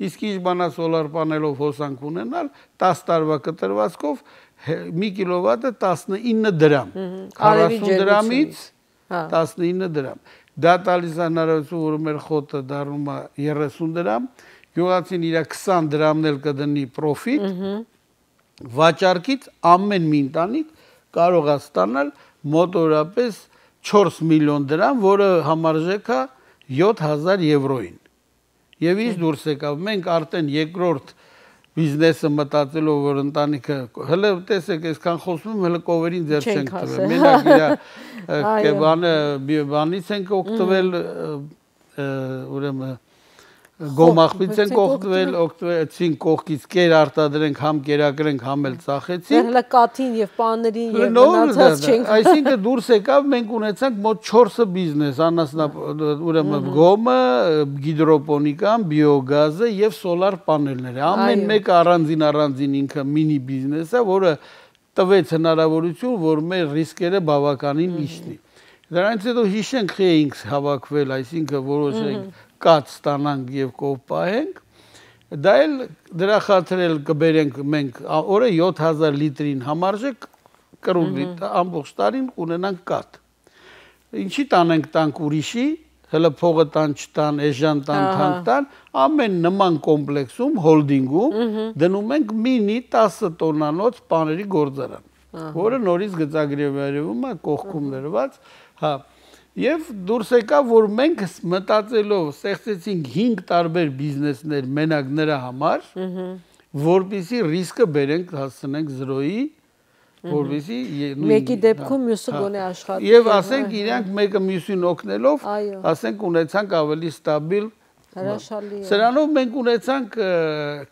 Իսկ ինչ բանա սոլար պանելով հոսանք ունենալ, տասը տարվա կտրվածքով մի կիլովատը տասնինը դրամ, քառասուն դրամից տասնինը դրամ։ Դա տալիս է հնարավորություն, որ մեր խոտը դառնում է երեսուն դրամ, գյուղացին իր քսան դրամն էլ կդնի պրոֆիտ, վաճառքից ամեն մի ընտանիք կարող է ստանալ մոտորապես չորս միլիոն դրամ, որը համարժեք է յոթ հազար եվրոյին։ Եվ ինչ դուրս եկավ, մենք արդեն երկրորդ բիզնեսը մտածելով, որ ընտանիքը հələ տեսեք, այսքան խոսում եմ, հələ կովերին ձեռ չենք տվել։ Մենակ իր բանը բանից ենք օգտվել, ուրեմն գոմախբից ենք օգտվել, օգտվեցին կողքից կեր արտադրենք, համ կերակրենք, համ էլ ծախեցինք։ Հələ կաթին եւ պաններին եւ մնացած չենք։ Այսինքն դուրս եկավ, մենք ունեցանք մոտ չորսը բիզնես, անասնա ուրեմն գոմը, գիդրոպոնիկան, բիոգազը եւ սոլար պանելները։ Ամեն մեկը առանձին առանձին ինքը մինի բիզնես է, որը տվեց հնարավորություն, որ մեր ռիսկերը բավականին իջնի։ Դրանից հետո հիշենք խի էինք հավաքվել, այսինքն որոշենք կաթ ստանանք եւ կով պահենք, դա էլ դրա խաթր էլ կբերենք մենք օրը յոթ հազար լիտրին համարժեք կրուն լիտր ամբողջ տարին ունենանք կաթ։ ինչի տանենք տանք ուրիշի, հələ փողը տան չտան, էժան տան, թանկ տան, ամեն նման կոմպլեքսում, հոլդինգում դնում ենք մինի տասը տոննանոց պաների գործարան, որը նորից գծագրերում է կողքում դրված, հա, եւ դուրս եկա, որ մենք մտածելով ստեղծեցինք հինգ տարբեր բիզնեսներ մենակ նրա համար, որպեսզի ռիսկը բերենք հասցնենք զրոյի, որպեսզի մեկի դեպքում մյուսը գոնե աշխատի եւ ասենք իրանք մեկը մյուսին օգնելով ասենք ունեցանք ավելի ստաբիլ հրաշալի սրանով մենք ունեցանք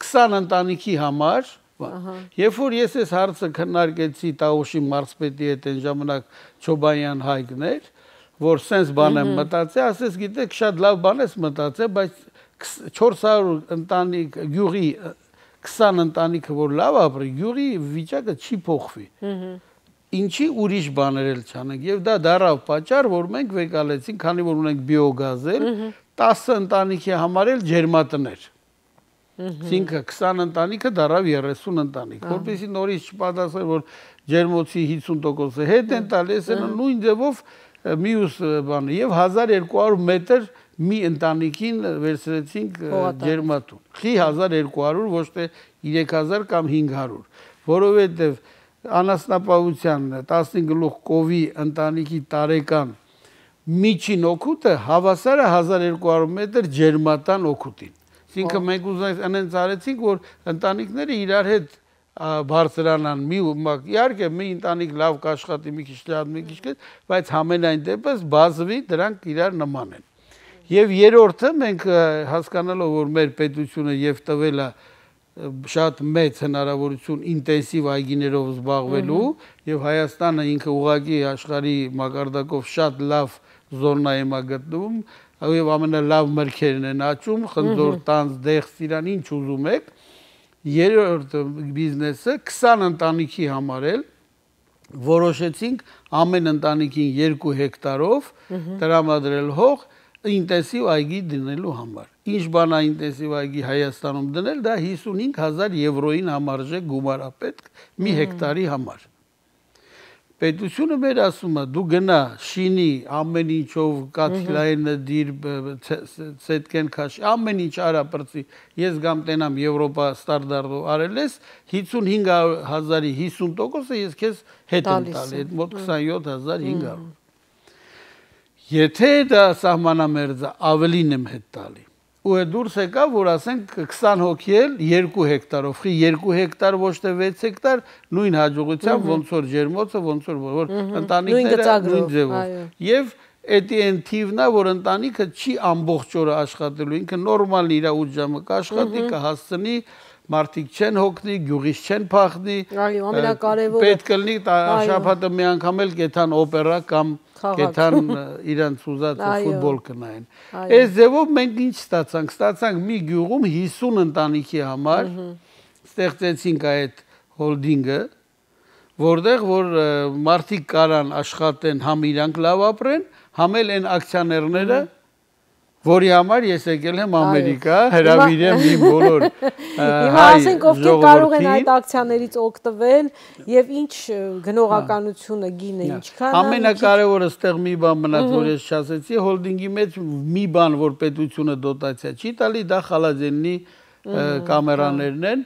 քսան ընտանիքի համար երբ որ ես այս հարցը քննարկեցի Տավուշի մարզպետի հետ այն ժամանակ Չոբանյան Հայկներ որ sense բան եմ մտածել ասես գիտեք շատ լավ բան ես մտածել բայց չորս հարյուր ընտանիք գյուղի քսան ընտանիքը որ լավ ապրի, յուղի վիճակը չի փոխվի։ Ինչի ուրիշ բաներ էլ չանենք եւ դա դարավ պատճառ, որ մենք վեկալեցինք, քանի որ ունենք բիոգազել, տասը ընտանիքի համար էլ ջերմատներ։ Այսինքն քսան ընտանիքը դարավ երեսուն ընտանիք, որպեսզի նորից չպատասխան, որ ջերմոցի հիսուն տոկոսը հետ են տալիս, նույն ձևով մյուս բանը եւ հազար երկու հարյուր մետր մի ընտանիքին վերցրեցինք ջերմատուն։ Խի հազար երկու հարյուր ոչ թե երեք հազար կամ հինգ հարյուր, որովհետեւ անասնապահության տասնհինգ գլուխ կովի ընտանիքի տարեկան միջին օգուտը հավասար է հազար երկու հարյուր մետր ջերմատան օգուտին։ Այսինքն մենք ուզենք այնց արեցինք, որ ընտանիքները իրար հետ բարձրանան մի իհարկե մի ընտանիք լավ կաշխատի մի քիչ լավ մի քիչ քիչ բայց համենայն դեպս բազվի դրանք իրար նման են եւ երրորդը մենք հասկանալով որ մեր պետությունը եւ տվել է շատ մեծ հնարավորություն ինտենսիվ այգիներով զբաղվելու եւ Հայաստանը ինքը ուղղակի աշխարհի մակարդակով շատ լավ զոնայում է գտնվում եւ ամենալավ մրգերն են աճում խնձոր տանձ դեղց իրան ինչ ուզում եք երրորդ բիզնեսը քսան ընտանիքի համար էլ որոշեցինք ամեն ընտանիքին երկու հեկտարով տրամադրել հող ինտենսիվ այգի դնելու համար։ Ինչ բան է ինտենսիվ այգի Հայաստանում դնել, դա հիսունհինգ հազար եվրոին համարժեք գումար է պետք մի հեկտարի համար։ Պետությունը մեր ասում է դու գնա շինի ամեն ինչով կաթիլայինը դիր ցետկեն քաշ ամեն ինչ արա բրծի ես գամ տենամ Եվրոպա ստանդարտով արել ես հիսունհինգ հազարի հիսուն տոկոսը ես քեզ հետ եմ տալի այդ մոտ քսանյոթ հազար հինգ հարյուր Եթե դա սահմանամերձ է ավելին եմ հետ տալի ու է դուրս եկա որ ասենք քսան հոգի էլ երկու հեկտարով խի երկու հեկտար ոչ թե վեց հեկտար նույն հաջողությամբ ոնց որ ջերմոցը ոնց որ որ ընտանիքները նույն ձևով եւ էդի են թիվն է որ ընտանիքը չի ամբողջ օրը աշխատելու ինքը նորմալ իր ութ ժամը կաշխատի կհասցնի մարդիկ չեն հոգնի գյուղից չեն փախնի պետք է լինի շաբաթը մի անգամ էլ կեթան օպերա կամ կեթան իրանց ուզած ֆուտբոլ կնայեն այս ձևով մենք ինչ ստացանք ստացանք մի գյուղում հիսուն ընտանիքի համար ստեղծեցինք այդ հոլդինգը որտեղ որ մարդիկ կարան աշխատեն համ իրանք լավ ապրեն համ էլ այն ակցիաներները որի համար ես եկել եմ Ամերիկա, հրավիրեմ իմ բոլոր Հիմա ասենք ովքեր կարող են այդ ակցիաներից օգտվել եւ ինչ գնողականությունը գինը ինչքան Ամենակարևորը ստեղ մի բան մնաց որ ես չասեցի հոլդինգի մեջ մի բան որ պետությունը դոտացիա չի տալի դա խալաձենի կամերաներն են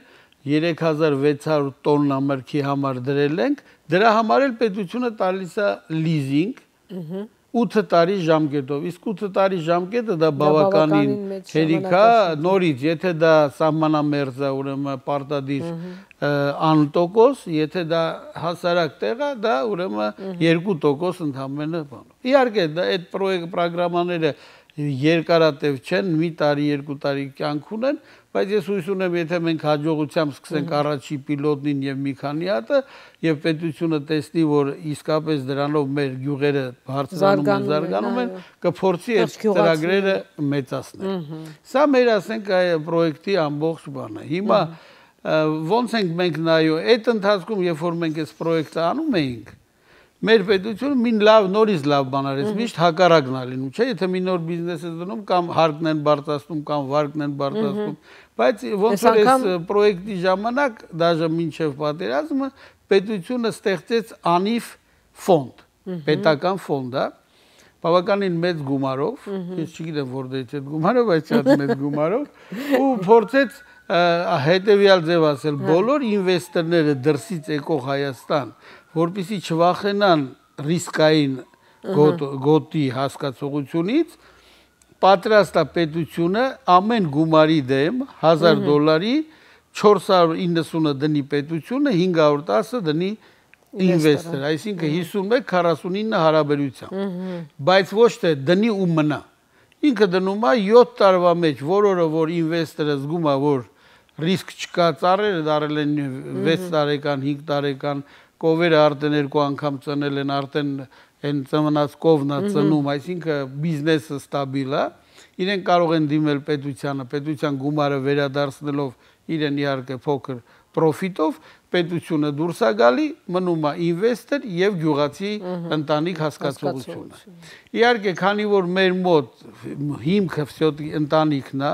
երեք հազար վեց հարյուր տոննա մրգի համար դրել ենք դրա համար էլ պետությունը տալիս է լիզինգ ութ տարի ժամկետով իսկ ութ տարի ժամկետը դա բավականին հերիքա նորից եթե դա սահմանամերձ է ուրեմն պարտադիր անտոկոս եթե դա հասարակ տեղ է դա ուրեմն երկու տոկոս ընդամենը բան իհարկե դա այդ պրոյեկտ պրոգրամաները երկարատև չեն մի տարի երկու տարի կյանք ունեն բայց ես հույս ունեմ եթե մենք հաջողությամբ սկսենք առաջի պիլոտնին եւ մի քանի հատը եւ պետությունը տեսնի որ իսկապես դրանով մեր գյուղերը բարձրանում են զարգանում են կփորձի այդ ծրագրերը մեծացնել սա մեր ասենք այ պրոյեկտի ամբողջ բանը հիմա ոնց ենք մենք նայում այդ ընթացքում երբ որ մենք այս պրոյեկտը անում էինք մեր պետությունը մի լավ նորից լավ բան արեց միշտ հակառակն է լինում չէ եթե մի նոր բիզնես է դնում կամ հարկն են բարձրացնում կամ վարկն են բարձրացնում բայց ոնց որ այս պրոյեկտի ժամանակ դաժե մինչև պատերազմը պետությունը ստեղծեց անիվ ֆոնդ պետական ֆոնդ է բավականին մեծ գումարով, ես չգիտեմ որտեղից այդ գումարը, բայց շատ մեծ գումարով, ու փորձեց հետևյալ ձև ասել, բոլոր ինվեստորները դրսից եկող Հայաստան, որպեսզի չվախենան ռիսկային գոտի հասկացողությունից, պատրաստ է պետությունը ամեն գումարի դեմ հազար դոլարի չորս հարյուր իննսունը դնի պետությունը, հինգ հարյուր տասը դնի ինվեստոր, այսինքն հիսունմեկ քառասունինը հարաբերությամբ, բայց ոչ թե դնի ու մնա, ինքը դնում է յոթ տարվա մեջ, որորը որ ինվեստորը զգում է, որ ռիսկ չկա, ծառերը դարել են վեց տարեկան, հինգ տարեկան, կովերը արդեն երկու անգամ ծնել են, արդեն են ծնված կովն է ծնում, այսինքն բիզնեսը ստաբիլ է, իրեն կարող են դիմել պետությանը, պետության գումարը վերադարձնելով իրեն իհարկե փոքր պրոֆիտով, պետությունը դուրս է գալի, մնում է ինվեստոր եւ գյուղացի ընտանիք հասկացողությունը։ Իհարկե, քանի որ մեր մոտ հիմքը վсё-таки ընտանիքն է,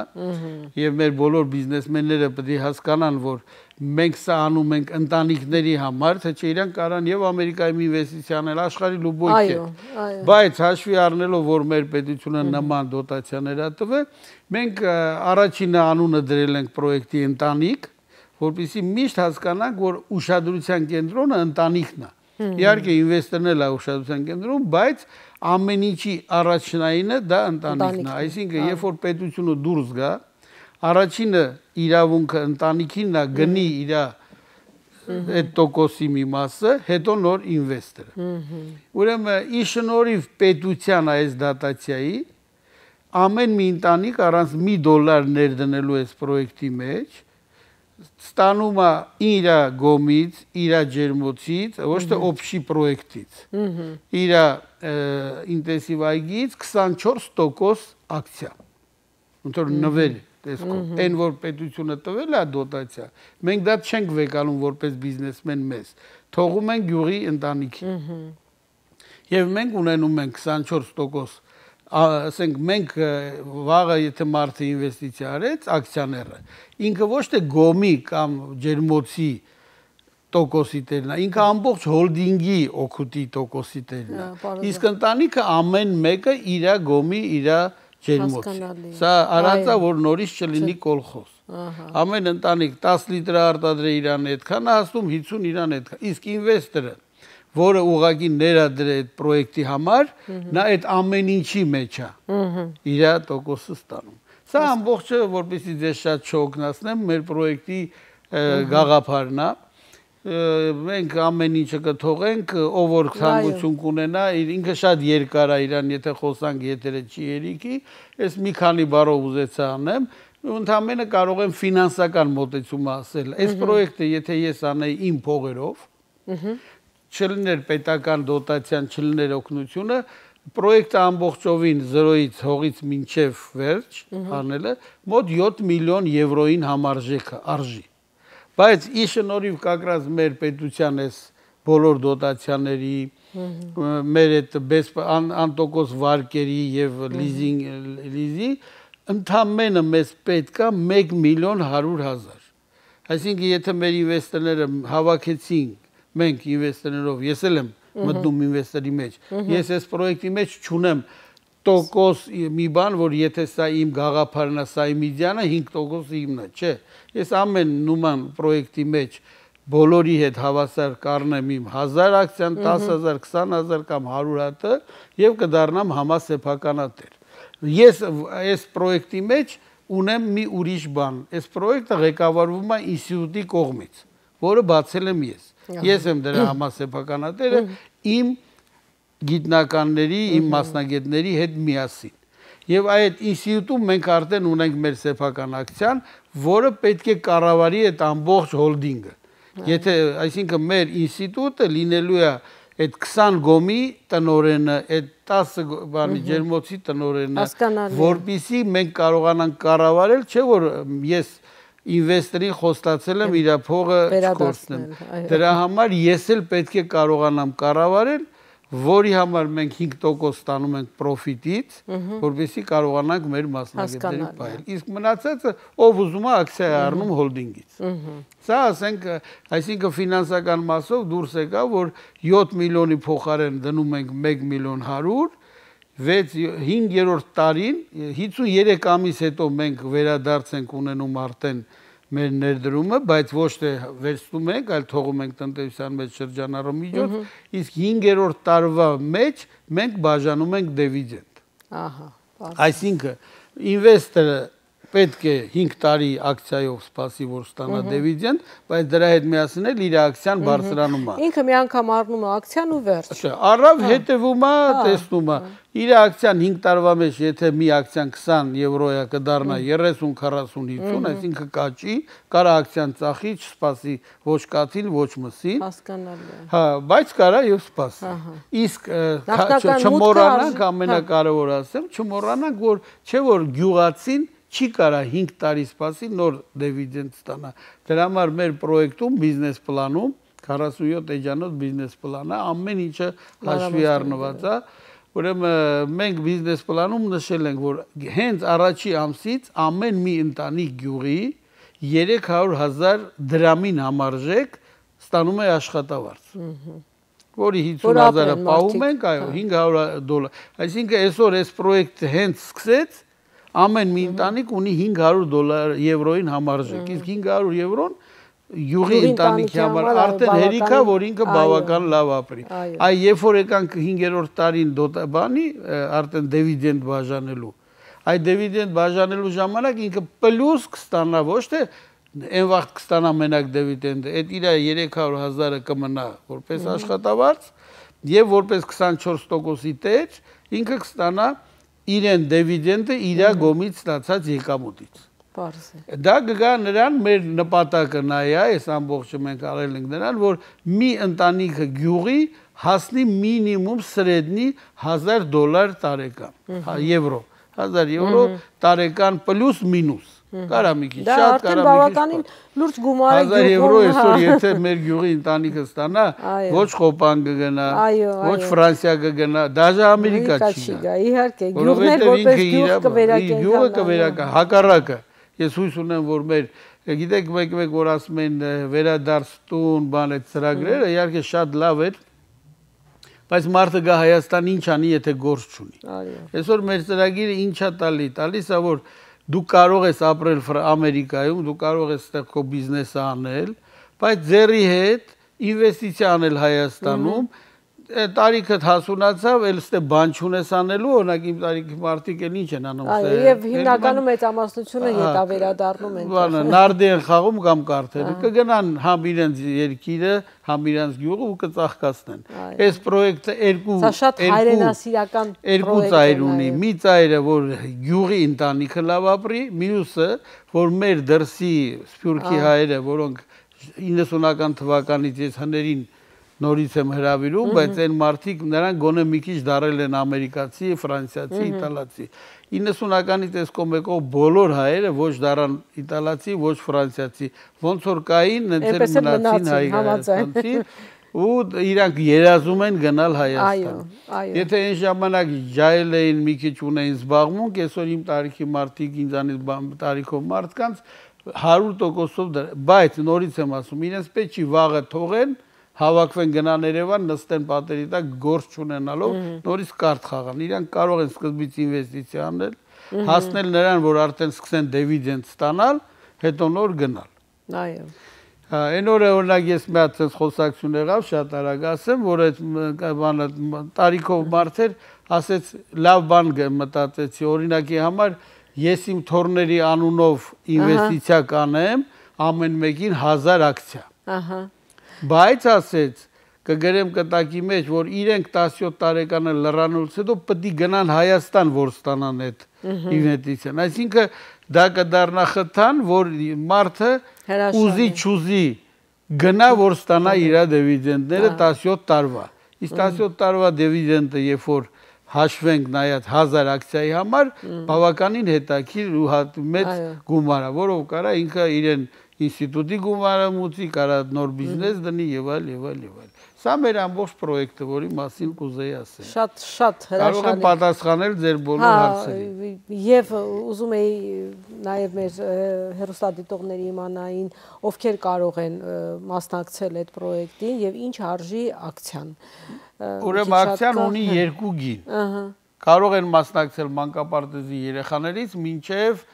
եւ մեր բոլոր բիզնեսմենները պետք է հասկանան, որ մենք սա անում ենք ընտանիքների համար, թե չէ իրանք կարան եւ Ամերիկայում ինվեստիցիա անել, աշխարհի լուբոյք է։ Բայց հաշվի առնելով, որ մեր պետությունը նման դոտացիաներ է տվել, մենք առաջինը անունը դրել ենք պրոյեկտի ընտանիք, որպեսզի միշտ հասկանանք, որ ուշադրության կենտրոնը ընտանիքն է։ Իհարկե ինվեստորն է ուշադրության կենտրոնում, բայց ամեն ինչի առաջնայինը դա ընտանիքն է։ Այսինքն, երբ որ պետությունը դուրս գա, առաջինը իրավունքը ընտանիքինն է գնի իր այդ տոկոսի մի մասը, հետո նոր ինվեստորը։ Ուրեմն ի շնորհիվ պետության այս դատացիայի ամեն մի ընտանիք առանց մի դոլար ներդնելու այս պրոյեկտի մեջ ստանում է իր գոմից, իր ջերմոցից, ոչ թե օբշի պրոյեկտից, իր ինտենսիվ այգից քսանչորս տոկոս ակցիա, ոնց նվեր տեսքով, այն որ պետությունը տվել է դոտացիա, մենք դա չենք վեկալում որպես բիզնեսմեն մեզ, թողում ենք գյուղի ընտանիքին, եւ մենք ունենում ենք քսանչորս տոկոս ասենք մենք վաղը եթե մարդը ինվեստիցիա արեց ակցիաները ինքը ոչ թե գոմի կամ ջերմոցի տոկոսի տերն է ինքը ամբողջ հոլդինգի օգուտի տոկոսի տերն է իսկ ընտանիքը ամեն մեկը իր գոմի իր ջերմոցի սա արածա որ նորից չլինի կոլխոզ ամեն ընտանիք տասը լիտր արտադրե իրան այդքան հասնում հիսուն իրան այդքան իսկ ինվեստորը որը ուղղակի ներադրե այդ պրոյեկտի համար, նա այդ ամեն ինչի մեջ է, իր տոկոսը ստանում։ Սա ամբողջը, որպեսզի ձեզ շատ չօգնացնեմ, մեր պրոյեկտի գաղափարն է, մենք ամեն ինչը կթողենք, ով որ ցանկություն կունենա, ինքը շատ երկար է իրան, եթե խոսանք եթերը չի երիքի, ես մի քանի բառով ուզեցա անեմ, ընդամենը կարող եմ ֆինանսական մոտեցում ասել։ Այս պրոյեկտը, եթե ես անեի իմ փողերով, չլներ պետական դոտացիան, չլներ օգնությունը, պրոյեկտը ամբողջովին զրոյից հողից մինչև վերջ անելը մոտ յոթ միլիոն եվրոին համարժեք արժի։ Բայց ի շնորհիվ կակրած մեր պետության այս բոլոր դոտացիաների, մեր այդ անտոկոս վարկերի եւ լիզինգ լիզի ընդամենը մեզ պետք է մեկ միլիոն հարյուր հազար։ Այսինքն եթե մեր ինվեստորները հավաքեցին մենք ինվեստորներով, ես էլ եմ մտնում ինվեստորի մեջ, ես այս պրոյեկտի մեջ չունեմ տոկոս մի բան, որ եթե սա իմ գաղափարն է, սա իմ իդեան է, հինգ տոկոս իմն է, չէ, ես ամեն նման պրոյեկտի մեջ բոլորի հետ հավասար կառնեմ իմ հազար ակցիան, տասը հազար, քսան հազար կամ հարյուր հատը եւ կդառնամ համասեփականատեր։ Ես այս պրոյեկտի մեջ ունեմ մի ուրիշ բան, այս պրոյեկտը ղեկավարվում է ինստիտուտի կողմից, որը բացել եմ ես։ Ես եմ դրա համասեփականատերը իմ գիտնականների, իմ մասնագետների հետ միասին։ Եվ այդ ինստիտուտում մենք արդեն ունենք մեր սեփական ակցիան, որը պետք է կառավարի այդ ամբողջ հոլդինգը։ Եթե, այսինքն մեր ինստիտուտը լինելու է այդ քսան գոմի տնօրենը, այդ տասը բանի ջերմոցի տնօրենը, որպեսզի մենք կարողանանք կառավարել, չէ որ ես ինվեստորին խոստացել եմ իր փողը չկորցնեմ։ Դրա համար ես էլ պետք է կարողանամ կառավարել, որի համար մենք հինգ տոկոս ստանում ենք պրոֆիտից, որպեսզի կարողանանք մեր մասնագետներին պահել։ Իսկ մնացածը ով ուզում է ակցիա է առնում հոլդինգից։ Սա ասենք, այսինքն ֆինանսական մասով դուրս եկա, որ յոթ միլիոնի փոխարեն դնում ենք մեկ միլիոն հարյուր, հինգերորդ տարին հիսուններեք ամիս հետո մենք վերադարձ ենք ունենում արդեն մեր ներդրումը, բայց ոչ թե վերցնում ենք, այլ թողում ենք տնտեսության մեջ շրջանառու միջոց, իսկ հինգերորդ տարվա մեջ մենք բաժանում ենք դիվիդենդ։ Ահա, այսինքն ինվեստորը պետք է հինգ տարի ակցիայով սպասի, որ ստանա դիվիդենդ, բայց դրա հետ միասին էլ իր ակցիան բարձրանում է։ Ինքը մի անգամ առնում է ակցիան ու վերջ։ Առավ հետևում է, տեսնում է։ Իր ակցիան հինգ տարվա մեջ, եթե մի ակցիան քսան եվրոյա կդառնա երեսուն, քառասուն, հինգսուն, այսինքն կաճի, կարա ակցիան ծախի, չսպասի ոչ կաթին, ոչ մսին։ Հասկանալի է։ Հա, բայց կարա եւ սպասի։ Իսկ չմոռանանք, ամենակարևորը ասեմ, չմոռանանք, որ չէ որ գյուղացին չի կարա հինգ տարի սպասի նոր դիվիդենդ ստանա։ Դրա համար մեր պրոյեկտում բիզնես պլանում քառասունյոթ էջանոց բիզնես պլանը ամեն ինչը հաշվի առնված է։ Ուրեմն մենք բիզնես պլանում նշել ենք, որ հենց առաջի ամսից ամեն մի ընտանիք գյուղի երեք հարյուր հազար դրամին համարժեք ստանում է աշխատավարձ։ Որի հիսուն հազարը պահում ենք, այո, հինգ հարյուր դոլար։ Այսինքն այսօր այս պրոյեկտը հենց սկսեց, ամեն մի ընտանիք ունի հինգ հարյուր դոլար եվրոյին համարժեք, իսկ հինգ հարյուր եվրոն յուղի ընտանիքի համար արդեն հերիք է, որ ինքը բավական լավ ապրի։ Այ երբ որ եկանք հինգերորդ տարին բանի արդեն դիվիդենդ բաժանելու, այդ դիվիդենդ բաժանելու ժամանակ ինքը պլյուս կստանա, ոչ թե այն վաղ կստանա մենակ դիվիդենդը, այդ իր երեք հարյուր հազարը կմնա որպես աշխատավարձ եւ որպես քսանչորս տոկոսի տեր ինքը կստանա իրեն դիվիդենդը իր գոմից ստացած եկամուտից։ Դա կգա նրան մեր նպատակը նա է, այս ամբողջը մենք արել ենք նրան, որ մի ընտանիքը գյուղի հասնի մինիմում սրեդնի հազար դոլար տարեկան, եվրո, հազար եվրո տարեկան պլյուս մինուս։ Կարա մի քիչ շատ, կարա մի քիչ։ Դա արդեն բավականին լուրջ գումար է։ Հազար եվրո այսօր եթե մեր գյուղի ընտանիքը ստանա, ոչ Խոպան կգնա, ոչ Ֆրանսիա կգնա, դաժե Ամերիկա չի գա։ Իհարկե, գյուղներ որպես գյուղ կվերակեն։ Գյուղը կվերակա, հակառակը։ Ես հույս ունեմ, որ մեր, գիտեք, մեկ-մեկ որ ասում են վերադարձ տուն, բան այդ ծրագրերը, իհարկե շատ լավ էր, բայց մարդը գա Հայաստան ինչ անի, եթե գործ չունի։ Այսօր մեր ծրագիրը ինչա տալի, տալիս է, որ դու կարող ես ապրել Ամերիկայում, դու կարող ես այդտեղ քո բիզնեսը անել, բայց ձեռի հետ ինվեստիցիա անել Հայաստանում, տարիքդ հասունացավ, էլ ստե բան չունես անելու, օրինակ իմ տարիքի մարդիկ էլ ինչ են անում։ Այո, եւ հիմնականում մեծամասնությունը հետավերադառնում են։ Բանը նարդի են խաղում կամ կարթերը, կգնան համ իրենց երկիրը, համ իրենց գյուղը ու կծաղկացնեն։ Այս պրոյեկտը երկու Սա շատ հայրենասիրական երկու ծայր ունի։ Մի ծայրը, որ գյուղի ընտանիքը լավ ապրի, մյուսը, որ մեր դրսի սփյուռքի հայերը, որոնք իննսունական թվականից ես հներին նորից եմ հրավիրում, բայց այն մարդիկ նրանք գոնե մի քիչ դարել են ամերիկացի, ֆրանսիացի, իտալացի։ իննսունականից այս կողմեկով բոլոր հայերը ոչ դարան իտալացի, ոչ ֆրանսիացի, ոնց որ կային, նենց էլ մնացին հայաստանցի ու իրանք երազում են գնալ Հայաստան։ Եթե այն ժամանակ ջայլ էին մի քիչ ունեին զբաղմունք, այսօր իմ տարիքի մարդիկ, ինձանից տարիքով մարդկանց հարյուր տոկոսով, բայց նորից եմ ասում, իրենց պետք չի վաղը թողեն, հավաքվեն գնան Երևան, նստեն պատերի տակ, գործ չունենալով, նորից կարթ խաղան։ Իրանք կարող են սկզբից ինվեստիցիա անել, հասնել նրան, որ արդեն սկսեն դիվիդենդ ստանալ, հետո նոր գնալ։ Այո։ Այն օրը օրինակ ես մի հատ խոսակցություն եղավ, շատ արագ ասեմ, որ այդ բանը տարիքով մարդեր ասեց լավ բան մտածեցի, օրինակի համար ես իմ թորների անունով ինվեստիցիա կանեմ, ամեն մեկին հազար ակցիա։ Ահա։ Բայց ասեց կգրեմ կտակի մեջ, որ իրենք տասնյոթ տարեկանը լրանալուց հետո պետք է գնան Հայաստան, որ ստանան այդ ինվեստիցիան։ Այսինքն դա կդառնա խթան, որ մարդը ուզի չուզի գնա, որ ստանա իր դիվիդենդները տասնյոթ տարվա։ Իսկ տասնյոթ տարվա դիվիդենդը, երբ որ հաշվենք նայած հազար ակցիայի համար, բավականին հետաքրքիր ու մեծ գումար է, որով կարա ինքը իրեն ինստիտուտի գումարը մուծի, կարա նոր բիզնես դնի եւ այլ եւ այլ եւ այլ։ Սա մեր ամբողջ պրոյեկտը, որի մասին կուզեի ասել։ Շատ շատ հրաշալի։ Կարող եմ պատասխանել ձեր բոլոր հարցերին։ Եվ ուզում էի նաեւ մեր հեռուստադիտողների իմանային, ովքեր կարող են մասնակցել այդ պրոյեկտին եւ ինչ արժի ակցիան։ Ուրեմն ակցիան ունի երկու գին։ կարող են մասնակցել մանկապարտեզի երեխաներից մինչև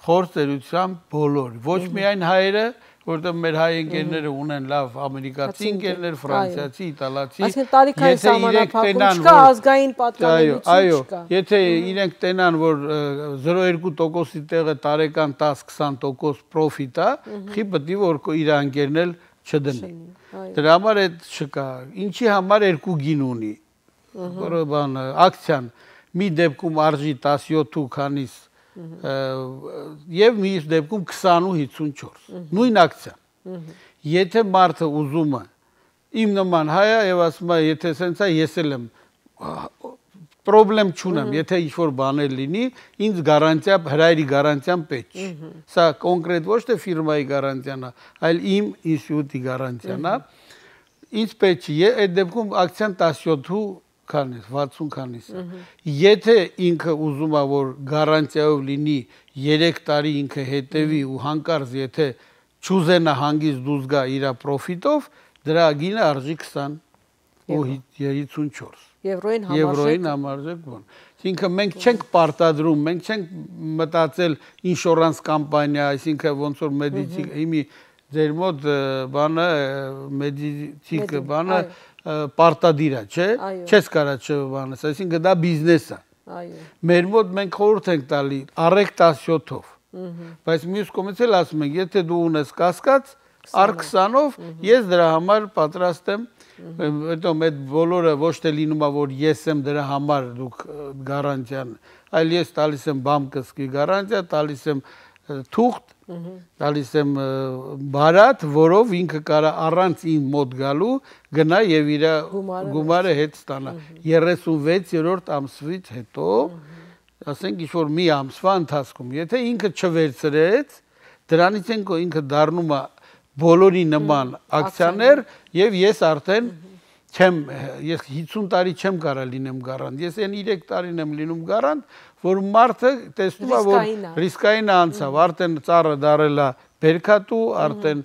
խոր ծերության բոլոր, ոչ միայն հայերը, որտեղ մեր հայ ընկերները ունեն լավ ամերիկացի ընկերներ, ֆրանսիացի, իտալացի, այսինքն տարիքային սահմանափակում չկա, ազգային պատկանելություն չկա։ Եթե իրենք տենան, որ զրո կόμμα երկու տոկոսի տեղը տարեկան տաս-քսան տոկոս պրոֆիտ է, խի պետք է որ իր ընկերն էլ չդնի։ Դրա համար այդ չկա։ Ինչի համար երկու գին ունի։ Որը բան ակցիան մի դեպքում արժի տասնյոթ քանիս եւ մի դեպքում քսան ու հիսունչորս նույն ակցիան եթե մարդը ուզում է իմ նման հայա եւ ասում է եթե սենց է ես էլ եմ պրոբլեմ չունեմ եթե ինչ որ բաներ լինի ինձ գարանտիա հրայրի գարանտիան պետք է սա կոնկրետ ոչ թե ֆիրմայի գարանտիան է այլ իմ ինստիտուտի գարանտիան է ինձ պետք է այդ դեպքում ակցիան տասնյոթ քանիս վաթսուն քանիս եթե ինքը ուզում է որ գարանտիայով լինի երեք տարի ինքը հետևի ու հանկարծ եթե չուզենա հանգիստ դուրս գա իր պրոֆիտով դրա գինը արժի քսան ու հիսունչորս եվրոյին համարժեք եվրոյին համարժեք բան այսինքն մենք չենք պարտադրում մենք չենք մտածել ինշորանս կամպանիա այսինքն ոնց որ մեդիցի հիմի ձեր մոտ բանը մեդիցիկ բանը պարտադիր է, չէ՞, չես կարա չբանես, այսինքն դա բիզնես է։ Այո։ Մեր մոտ մենք խորհուրդ ենք տալի առեք տասնյոթով։ Բայց մյուս կողմից էլ ասում ենք, եթե դու ունես կասկած, առ քսանով ես դրա համար պատրաստ եմ, հետո այդ բոլորը ոչ թե լինում է որ ես եմ դրա համար դուք գարանտիան, այլ ես տալիս եմ բամ կսկի գարանտիա, տալիս եմ թուղթ, տալիս եմ բարատ, որով ինքը կարա առանց ին մոտ գալու գնա եւ իր գումարը հետ ստանա երեսունվեցերորդ ամսվից հետո ասենք ինչ որ մի ամսվա ընթացքում եթե ինքը չվերցրեց դրանից են ինքը դառնում է բոլորի նման ակցիաներ եւ ես արդեն չեմ ես հիսուն տարի չեմ կարա լինեմ գարանտ ես այն երեք տարին եմ լինում գարանտ որ մարդը տեսնում է որ ռիսկային անցավ արդեն ծառը դարել է բերքատու արդեն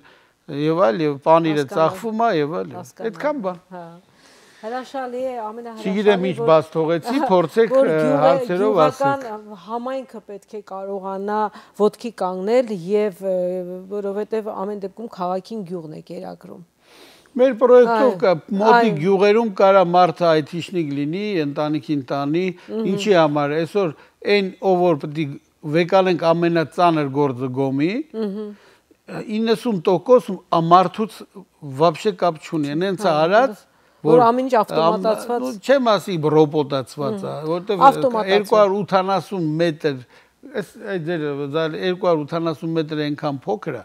եւ այլ եւ պանիրը ծախվում է եւ այլ այդքան բան հա հրաշալի է ամենահրաշալի չգիտեմ ինչ բաց թողեցի փորձեք հարցերով ասեք համայնքը պետք է կարողանա ոտքի կանգնել եւ որովհետեւ ամեն դեպքում քաղաքին գյուղն է կերակրում Մեր պրոյեկտով կա մոտի գյուղերում կարա մարդը այթիշնիկ լինի, ընտանիքին տանի, ինչի համար այսօր այն ով որ պետք է վեկալենք ամենածանր գործը գոմի, իննսուն տոկոս մարդուց вообще կապ չունի, հենց արած որ ամեն ինչ ավտոմատացված չեմ ասի ռոբոտացված է, որտեղ երկու հարյուր ութանասուն մետր Այս ձեր երկու հարյուր ութանասուն մետր այնքան փոքր է,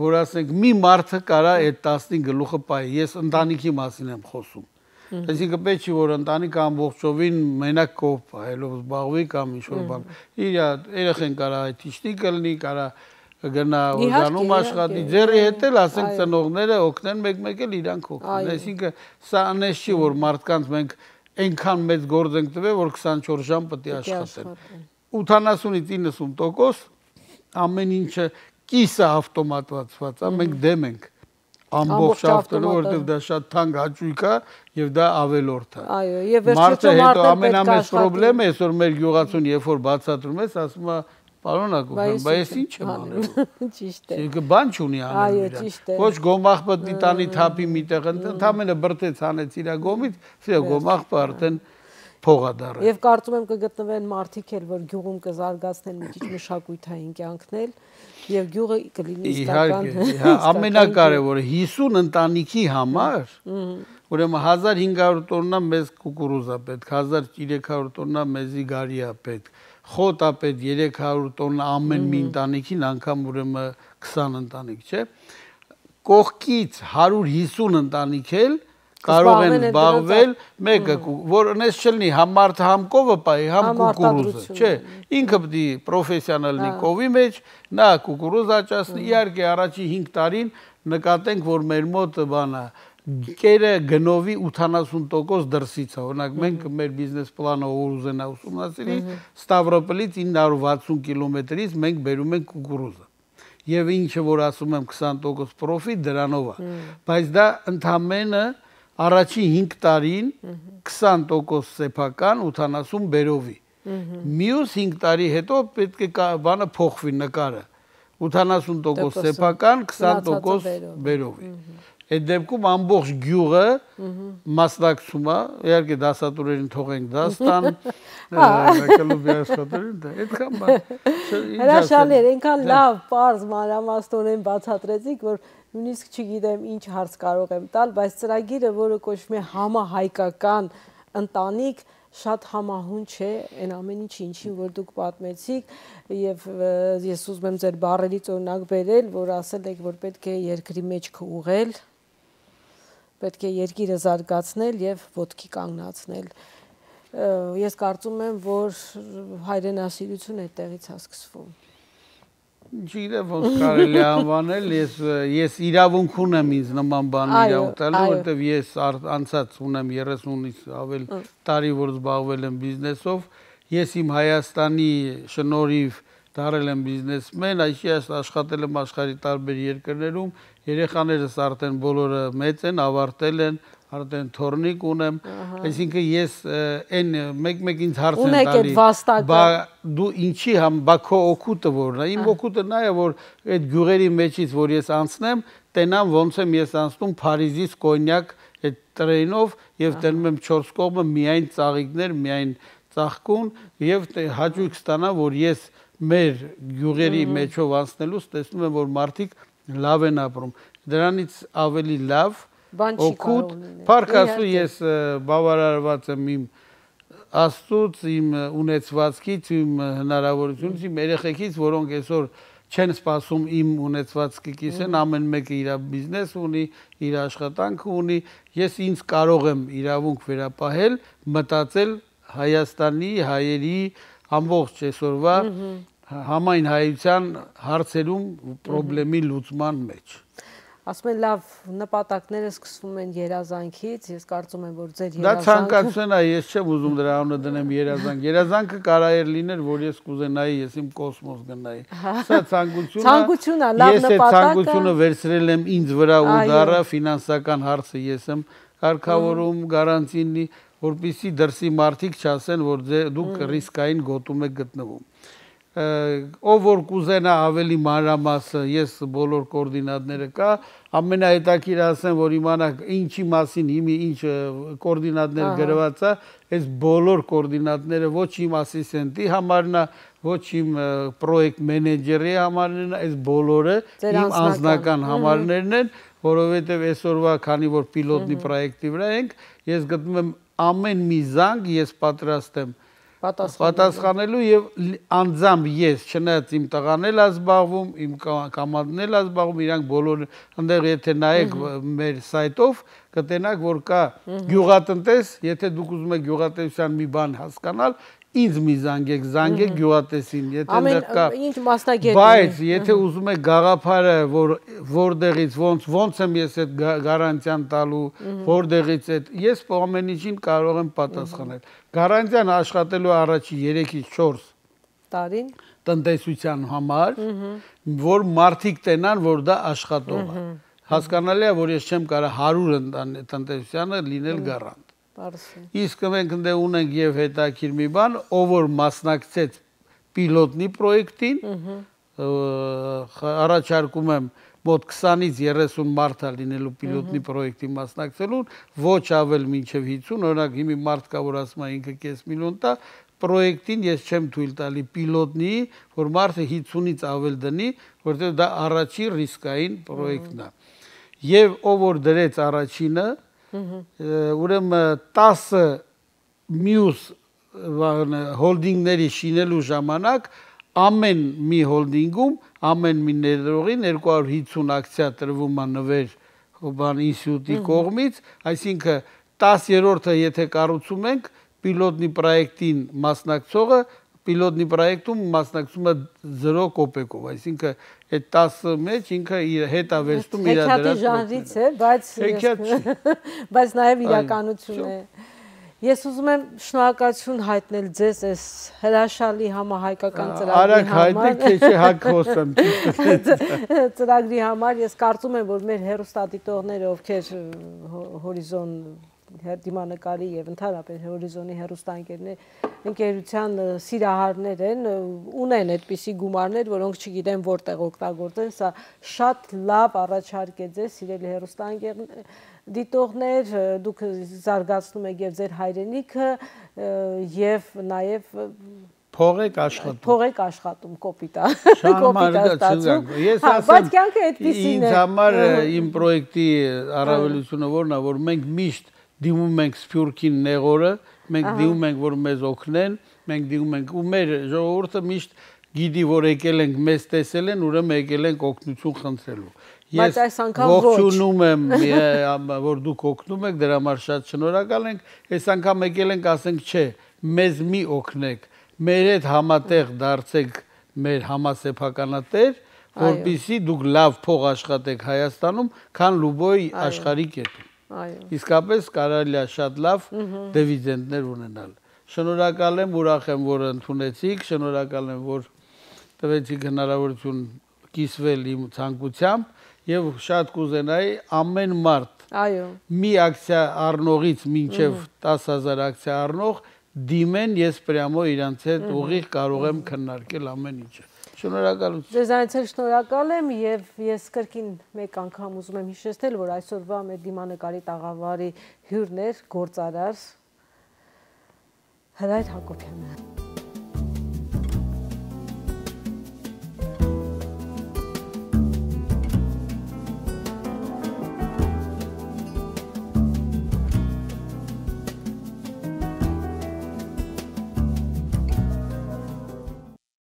որ ասենք մի մարդը կարա այդ տասնին գլուխը պայի, ես ընտանիքի մասին եմ խոսում։ Այսինքն պետք է որ ընտանիքը ամբողջովին մենակ կողմ պահելով զբաղվի կամ ինչ-որ բան։ Իր երեխեն կարա այթիշնիկ լինի, կարա գնա օրգանում աշխատի, ձեռի հետ էլ ասենք ծնողները օգնեն մեկ-մեկ էլ իրանք օգնեն։ Այսինքն սա անես չի որ մարդկանց մենք այնքան մեծ գործ ենք տվել, որ քսանչորս ժամ պետք է աշխատեն։ ութանասունից իննսուն տոկոս ամեն ինչը կիսը ավտոմատացված է, մենք դեմ ենք ամբողջ ավտոմատը, որտեղ դա շատ թանկ հաճույք է եւ դա ավելորդ է։ Այո, եւ վերջում մարդը ամենամեծ խնդրեմը է, այսօր մեր գյուղացուն երբ որ բացատրում ես, ասում է պարոնակ, բայց ինչ եմ անելու։ Ճիշտ է։ Իսկ բան չունի անելու իր։ Ոչ գոմախ պետք է տանի թափի միտեղ, ընդամենը բրտեց հանեց իր գոմից, սա գոմախը արդեն փողադառը։ Եվ կարծում եմ կգտնվեն մարդիկ էլ, որ գյուղում կզարգացնեն մի քիչ մշակութային կյանքնել եւ գյուղը կլինի իսկական։ Իհարկե, ամենակարևորը հիսուն ընտանիքի համար, ուրեմն հազար հինգ հարյուր տոննա մեզ կուկուրուզա պետք, հազար երեք հարյուր տոննա մեզի գարի է պետք, խոտ է պետք երեք հարյուր տոննա ամեն մի ընտանիքին, անգամ ուրեմն քսան ընտանիք, չէ։ Կողքից հարյուր հիսուն ընտանիք էլ կարող են զբաղվել մեկը որ նես չլինի համ մարդը համ կովը պայի համ կուկուրուզը չէ ինքը պետք է պրոֆեսիոնալ լինի կովի մեջ նա կուկուրուզ աճացնի իհարկե առաջի հինգ տարին նկատենք որ մեր մոտ բանա կերը գնովի ութանասուն տոկոս դրսից է օրինակ մենք մեր բիզնես պլանը որ ուզենա ուսումնասիրի Ստավրոպոլից ինը հարյուր վաթսուն կիլոմետրից մենք բերում ենք կուկուրուզը եւ ինչը որ ասում եմ քսան տոկոս պրոֆիտ դրանով է բայց դա ընդամենը առաջին հինգ տարին քսան տոկոս սեփական, ութանասուն բերովի։ Մյուս հինգ տարի հետո պետք է բանը փոխվի նկարը։ ութանասուն տոկոս սեփական, քսան տոկոս բերովի։ Այդ դեպքում ամբողջ գյուղը մասնակցում է, իհարկե դասատուներին թողենք դաս տան, կլուբի աշխատողներին, այդքան բան։ Հրաշալի էր, այնքան լավ, պարզ, մանրամասնորեն բացատրեցիք, որ նույնիսկ չգիտեմ ինչ հարց կարող եմ տալ, բայց ծրագիրը, որը կոչվում է համահայկական ընտանիք, շատ համահուն չէ այն ամեն ինչ ինչին, որ դուք պատմեցիք, եւ ես ուզում եմ ձեր բառերից օրինակ բերել, որ ասել եք, որ պետք է երկրի մեջքը ուղղել, պետք է երկիրը զարգացնել եւ ոտքի կանգնացնել։ Ես կարծում եմ, որ հայրենասիրությունը այդտեղից է սկսվում։ Չգիտեմ ոնց կարելի է անվանել, ես ես իրավունք ունեմ ինձ նման բան իրավունք տալու, որովհետև ես անցած ունեմ երեսունից ավել տարի, որ զբաղվել եմ բիզնեսով, ես իմ Հայաստանի շնորհիվ դարել եմ բիզնեսմեն, այսինքն աշխատել եմ աշխարհի տարբեր երկրներում, երեխաներս արդեն բոլորը մեծ են, ավարտել են, արդեն թորնիկ ունեմ, այսինքն ես այն մեկ-մեկ ինձ հարց են տալի, բա դու ինչի համ, բա քո օգուտը որն է, իմ օգուտը նա է, որ այդ գյուղերի մեջից, որ ես անցնեմ, տենամ ոնց եմ ես անցնում Փարիզից Կոնյակ այդ տրեյնով եւ տենում եմ չորս կողմը միայն ծաղիկներ, միայն ծաղկուն եւ հաճույք ստանամ, որ ես մեր գյուղերի մեջով անցնելուց տեսնում եմ, որ մարդիկ լավ են ապրում։ Դրանից ավելի լավ օգուտ, փառք Աստծո, ես բավարարված եմ իմ Աստծուց, իմ ունեցվածքից, իմ հնարավորությունից, իմ երեխեքից, որոնք այսօր չեն սպասում իմ ունեցվածքի կիսեն, ամեն մեկը իր բիզնես ունի, իր աշխատանքը ունի, ես ինձ կարող եմ իրավունք վերապահել, մտածել Հայաստանի, հայերի ամբողջ այսօրվա համայն հայության հարցերում խնդրի լուծման մեջ։ Ասում են լավ նպատակները սկսվում են երազանքից, ես կարծում եմ, որ ձեր երազանքը… Դա ցանկացություն է, ես չեմ ուզում դրա անունը դնեմ երազանք։ Երազանքը կարող էր լինել, որ ես կուզենայի, ես իմ կոսմոս գնայի։ Սա ցանկություն է, լավ նպատակ է։ Ես այդ ցանկությունը վերցրել եմ ինձ վրա ու դառա ֆինանսական հարցը ես եմ կարգավորում, գարանտինի, որպեսզի դրսի մարդիկ չասեն, որ դուք ռիսկային գոտում եք գտնվում։ Ով որ կուզենա ավելի մանրամասը, ես բոլոր կոորդինատները կա, ամենահետաքրքիրը ասեմ, որ իմանաք ինչի մասին հիմի ինչ կոորդինատներ գրված է, այս բոլոր կոորդինատները ոչ իմ ասիստենտի համարն է, ոչ իմ պրոյեկտ մենեջերի համարն է, այս բոլորը իմ անձնական համարներն են, որովհետև այսօրվա քանի որ պիլոտնի պրոյեկտի վրա ենք, ես գտնում եմ ամեն մի զանգ ես պատրաստ եմ պատասխանելու եւ անձամբ ես, չնայած իմ տղան էլ է զբաղվում, իմ կամանդն էլ է զբաղվում, իրանք բոլորը, այնտեղ եթե նայեք մեր սայթով, կտենաք, որ կա գյուղատնտես, եթե դուք ուզում եք գյուղատնտեսության մի բան հասկանալ, ինձ մի զանգեք, զանգեք գյուղատնտեսին, եթե այնտեղ կա, ինչ մասնագետ, բայց եթե ուզում եք գաղափարը, որ որտեղից ոնց ոնց եմ ես այդ գարանտիան տալու, որտեղից այդ, ես ամեն ինչին կարող եմ պատասխանել։ Գարանտիան աշխատելու առաջի երեքից չորս տարին տնտեսության համար, որ մարդիկ տենան, որ դա աշխատող է։ Հասկանալի է, որ ես չեմ կարող հարյուր տնտեսությանը լինել գարանտ։ Իսկ մենք ընդ ունենք եւ հետաքրքիր մի բան, ով որ մասնակցեց պիլոտնի պրոյեկտին, առաջարկում եմ մոտ քսանից երեսուն մարդ է լինելու պիլոտնի պրոյեկտի մասնակցելուն, ոչ ավել մինչև հինգ, օրինակ հիմի մարդ կա, որ ասում է ինքը կես միլիոն տա, պրոյեկտին ես չեմ թույլ տալի պիլոտնի, որ մարդը հինգից ավել դնի, որտեղ դա առաջի ռիսկային պրոյեկտն է։ Եվ ով որ դրեց առաջինը, ուրեմն տասը մյուս հոլդինգների շինելու ժամանակ ամեն մի հոլդինգում ամեն մի ներդրողին երկու հարյուր հինգ ակցիա տրվում է նվեր բան ինստիտուտի կողմից, այսինքն տասերորդը եթե կառուցում ենք պիլոտնի պրոյեկտին մասնակցողը պիլոտնի պրոյեկտում մասնակցում է զրո կոպեկով, այսինքն այդ տասը մեջ ինքը իր հետ է վերցնում իր դրած ժանրից է, բայց բայց նաև իրականություն է։ Ես ուզում եմ շնորհակալություն հայտնել ձեզ այս հրաշալի համահայկական ծրագրի համար։ Արագ հայտնեք, թե չէ հակ խոսեմ։ Ծրագրի համար ես կարծում եմ, որ մեր հեռուստադիտողները, ովքեր Հորիզոն դիմանկարի եւ ընդհանրապես Հորիզոնի հեռուստաընկերության սիրահարներ են, ունեն այդպիսի գումարներ, որոնք չգիտեն որտեղ օգտագործեն, սա շատ լավ առաջարկ է ձեզ, սիրելի հեռուստաընկերներ, դիտողներ, դուք զարգացնում եք եւ ձեր հայրենիքը եւ նաեւ փող եք աշխատում։ Փող եք աշխատում, կոպիտ է։ Կոպիտ է ստացվում։ Ես ասեմ, ինձ համար իմ պրոյեկտի առավելությունը որն է, որ մենք միշտ դիմում ենք Սփյուռքին նեղորը, մենք դիմում ենք, որ մեզ օգնեն, մենք դիմում ենք ու մեր ժողովուրդը միշտ գիտի, որ եկել ենք, մեզ տեսել են, ուրեմն եկել ենք օգնություն խնդրելու։ Ես ողջունում եմ, որ դուք օգնում եք, դրա համար շատ շնորհակալ ենք։ Այս անգամ եկել ենք, ասենք, չէ, մեզ մի օգնեք, մեր հետ համատեղ դարձեք մեր համասեփականատեր, որպեսզի դուք լավ փող աշխատեք Հայաստանում, քան լուբոյ աշխարհի կետում։ Իսկապես կարելի է շատ լավ դիվիդենդներ ունենալ։ Շնորհակալ եմ, ուրախ եմ, որ ընդունեցիք, շնորհակալ եմ, որ տվեցիք հնարավորություն կիսվել իմ ցանկությամբ եւ շատ կուզենայի ամեն մարդ մի ակցիա առնողից մինչեւ տասը հազար ակցիա առնող դիմեն, ես պրյամո իրանց հետ ուղիղ կարող եմ քննարկել ամեն ինչը։ Շնորհակալություն։ Ձեզանից էլ շնորհակալ եմ եւ ես կրկին մեկ անգամ ուզում եմ հիշեցնել, որ այսօրվա մեր դիմանկարի տաղավարի հյուրն էր գործարար Հրայր Հակոբյանը։